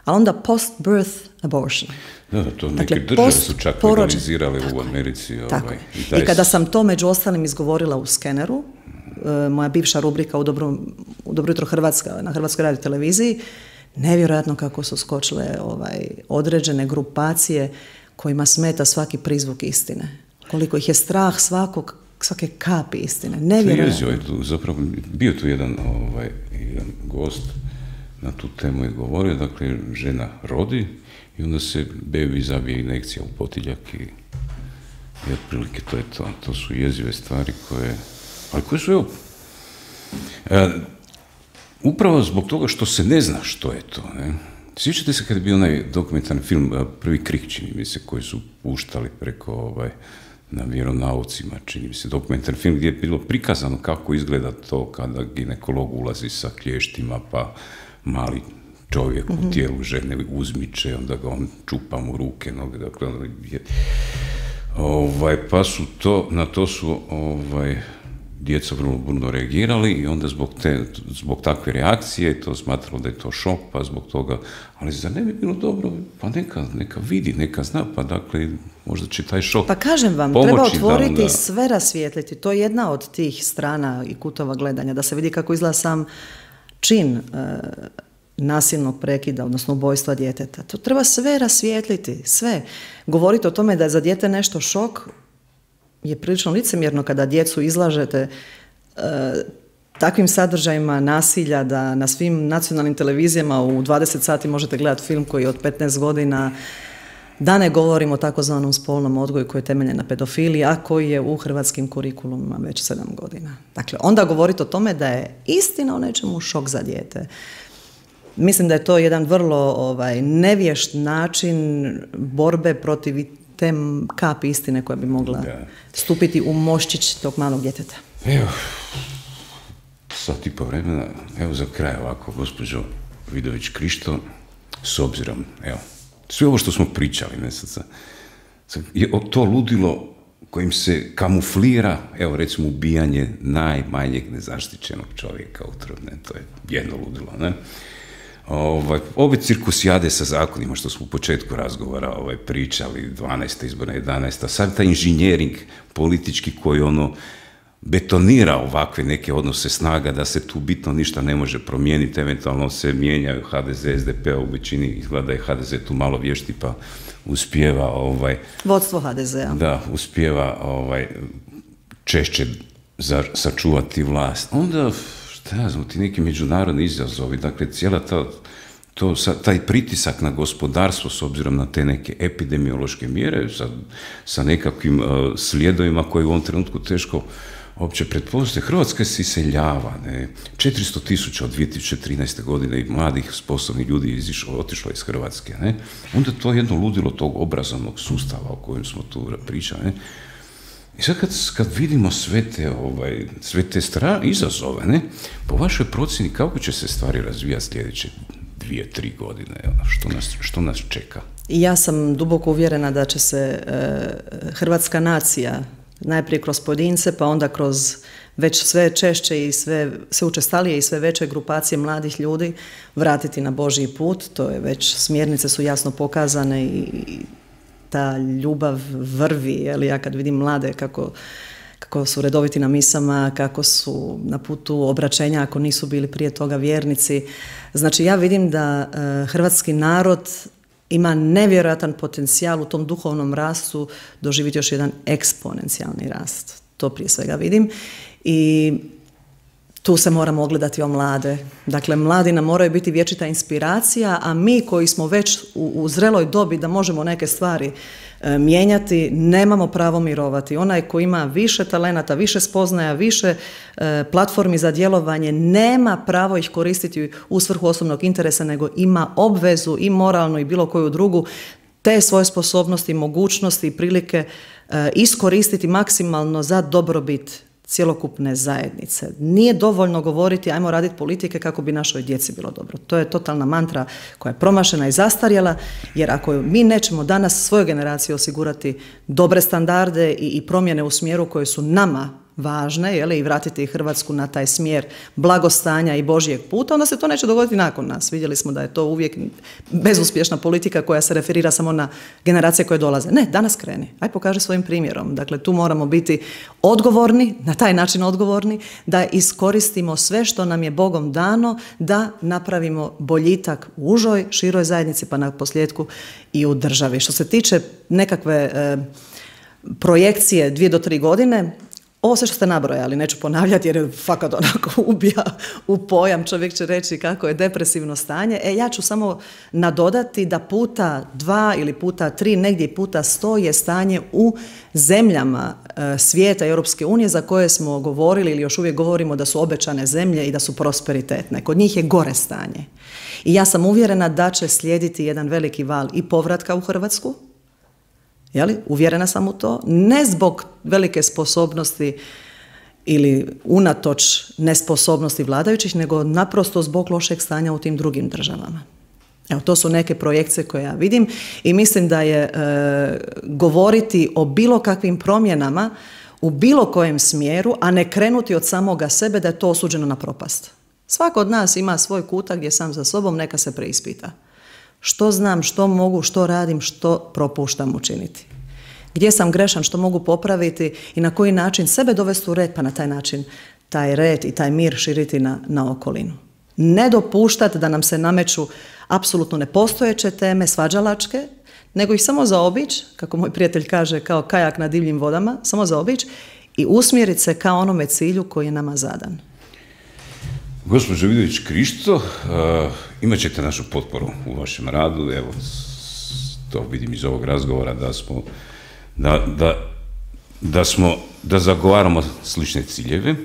a onda post-birth abortion. Da, da, to neke dakle, države su čak legalizirale u Americi. Tako ovaj, i, taj... I kada sam to među ostalim izgovorila u Skeneru, e, moja bivša rubrika u Dobro, u Dobro jutro Hrvatska, na Hrvatskoj radio televiziji, nevjerojatno kako su skočile ovaj, određene grupacije kojima smeta svaki prizvuk istine. Koliko ih je strah svakog, svake kapi istine. Nevjerojatno. Je tu, zapravo, bio tu jedan, ovaj, jedan gost na tu temu je govorio, dakle, žena rodi i onda se bebi zabije injekcija u potiljak i, i otprilike to je to. To su jezive stvari koje, ali koje su, evo, e, upravo zbog toga što se ne zna što je to, ne? Sjećate se kad je bio onaj dokumentarni film Prvi krik, čini mi se, koji su puštali preko, ovaj, na vjeronaucima, čini mi se, dokumentarni film gdje je bilo prikazano kako izgleda to kada ginekolog ulazi sa klještima, pa mali čovjek u tijelu žene uzmiče, onda ga on čupa mu ruke, noge, dakle, je, ovaj, pa su to, na to su ovaj, djeca vrlo burno reagirali i onda zbog, te, zbog takve reakcije to smatralo da je to šok, pa zbog toga, ali zar ne bi bilo dobro, pa neka, neka vidi, neka zna, pa dakle, možda će taj šok Pa kažem vam, pomoći, treba otvoriti da, da. sve rasvijetliti, to je jedna od tih strana i kutova gledanja, da se vidi kako izgleda sam čin e, nasilnog prekida, odnosno ubojstva djeteta. To treba sve rasvijetliti, sve. Govoriti o tome da je za dijete nešto šok je prilično licemjerno kada djecu izlažete e, takvim sadržajima nasilja da na svim nacionalnim televizijama u dvadeset sati možete gledati film koji je od petnaest godina, da ne govorimo o takozvanom spolnom odgoju koji je temeljen na pedofiliji, a koji je u hrvatskim kurikulumima već sedam godina. Dakle, onda govoriti o tome da je istina o nečemu šok za dijete. Mislim da je to jedan vrlo ovaj, nevješt način borbe protiv te kapi istine koja bi mogla da. stupiti u moščić tog malog djeteta. Evo, sat i po vremena, evo za kraj ovako, gospođo Vidović Krišto, s obzirom, evo, sve ovo što smo pričali, ne sad, sad, je to ludilo kojim se kamuflira, evo recimo ubijanje najmanjeg nezaštićenog čovjeka utrudne, to je jedno ludilo, ne? Ovaj, ove cirkusijade sa zakonima što smo u početku razgovora ovaj, pričali, dvanaesta izborna, jedanaesta, sad taj inženjering politički koji ono betonira ovakve neke odnose snaga da se tu bitno ništa ne može promijeniti, eventualno se mijenjaju ha de ze, es de pe, u većini izgleda je ha de ze tu malo vješti pa uspijeva ovaj, vodstvo ha de zea. Da, uspijeva ovaj, češće za, sačuvati vlast. Onda šta ja znam, ti neki međunarodni izazovi, dakle cijela ta to, taj pritisak na gospodarstvo s obzirom na te neke epidemiološke mjere sa, sa nekakvim uh, slijedovima koji u ovom trenutku teško uopće pretpostaviti. Hrvatska se iseljava, ne? četiristo tisuća od dvije tisuće trinaeste. godine i mladih sposobnih ljudi izišlo, otišlo iz Hrvatske. Ne? Onda to je jedno ludilo tog obrazovnog sustava o kojem smo tu pričali. Ne? I sad kad, kad vidimo sve te, ovaj, sve te stra, izazove, ne? Po vašoj procjeni kako će se stvari razvijati sljedeće dvije, tri godine? Što nas, što nas čeka? Ja sam duboko uvjerena da će se e, hrvatska nacija najprije kroz pojedince, pa onda kroz već sve češće i sve, sve učestalije i sve veće grupacije mladih ljudi vratiti na Božji put. To je već, smjernice su jasno pokazane i ta ljubav vrvi, jel, ja kad vidim mlade kako, kako su redoviti na misama, kako su na putu obraćenja ako nisu bili prije toga vjernici. Znači ja vidim da e, hrvatski narod ima nevjerojatan potencijal u tom duhovnom rastu doživjeti još jedan eksponencijalni rast. To prije svega vidim i tu se moramo ogledati o mlade. Dakle, mladi nam moraju biti vječita inspiracija, a mi koji smo već u, u zreloj dobi da možemo neke stvari e, mijenjati, nemamo pravo mirovati. Onaj koji ima više talenata, više spoznaja, više e, platformi za djelovanje, nema pravo ih koristiti u svrhu osobnog interesa, nego ima obvezu i moralnu i bilo koju drugu te svoje sposobnosti, mogućnosti i prilike e, iskoristiti maksimalno za dobrobit cjelokupne zajednice. Nije dovoljno govoriti ajmo raditi politike kako bi našoj djeci bilo dobro. To je totalna mantra koja je promašena i zastarjela, jer ako mi nećemo danas svojoj generaciji osigurati dobre standarde i, i promjene u smjeru koje su nama važne, jeli, i vratiti Hrvatsku na taj smjer blagostanja i Božjeg puta, onda se to neće dogoditi nakon nas. Vidjeli smo da je to uvijek bezuspješna politika koja se referira samo na generacije koje dolaze. Ne, danas kreni. Aj pokaži svojim primjerom. Dakle, tu moramo biti odgovorni, na taj način odgovorni, da iskoristimo sve što nam je Bogom dano, da napravimo boljitak u užoj, široj zajednici, pa na posljedku i u državi. Što se tiče nekakve e, projekcije dvije do tri godine, ovo sve što ste nabrojali, neću ponavljati jer je fakat onako ubija u pojam, čovjek će reći kako je depresivno stanje. E, ja ću samo nadodati da puta dva ili puta tri, negdje puta sto je stanje u zemljama e, svijeta Europske unije za koje smo govorili ili još uvijek govorimo da su obećane zemlje i da su prosperitetne. Kod njih je gore stanje. I ja sam uvjerena da će slijediti jedan veliki val i povratka u Hrvatsku. Jeli? Uvjerena sam u to, ne zbog velike sposobnosti ili unatoč nesposobnosti vladajućih, nego naprosto zbog lošeg stanja u tim drugim državama. Evo, to su neke projekcije koje ja vidim i mislim da je e, govoriti o bilo kakvim promjenama u bilo kojem smjeru, a ne krenuti od samoga sebe, da je to osuđeno na propast. Svako od nas ima svoj kutak gdje sam za sobom, neka se preispita. Što znam, što mogu, što radim, što propuštam učiniti. Gdje sam grešan, što mogu popraviti i na koji način sebe dovesti u red, pa na taj način taj red i taj mir širiti na, na okolinu. Ne dopuštati da nam se nameću apsolutno nepostojeće teme, svađalačke, nego ih samo zaobići, kako moj prijatelj kaže, kao kajak na divljim vodama, samo zaobići i usmjeriti se kao onome cilju koji je nama zadan. Gospođo Vidović Krišto, uh, imat ćete našu potporu u vašem radu. Evo, to vidim iz ovog razgovora da smo, da, da, da smo, da zagovaramo slične ciljeve.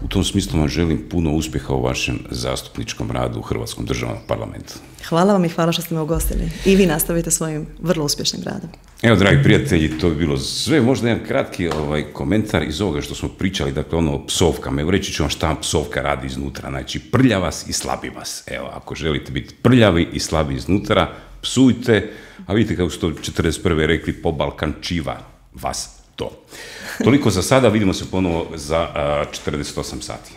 U tom smislu vam želim puno uspjeha u vašem zastupničkom radu u Hrvatskom državnom parlamentu. Hvala vam i hvala što ste me ugostili. I vi nastavite svojim vrlo uspješnim radom. Evo, dragi prijatelji, to bi bilo sve. Možda jedan kratki ovaj, komentar iz ovoga što smo pričali, dakle ono o psovkama. Evo, reći ću vam šta psovka radi iznutra. Znači, prlja vas i slabi vas. Evo, ako želite biti prljavi i slabi iznutra, psujte, a vidite kako su to četrdeset prve rekli, po Balkančiva vas to. Toliko za sada, vidimo se ponovo za uh, četrdeset osam sati.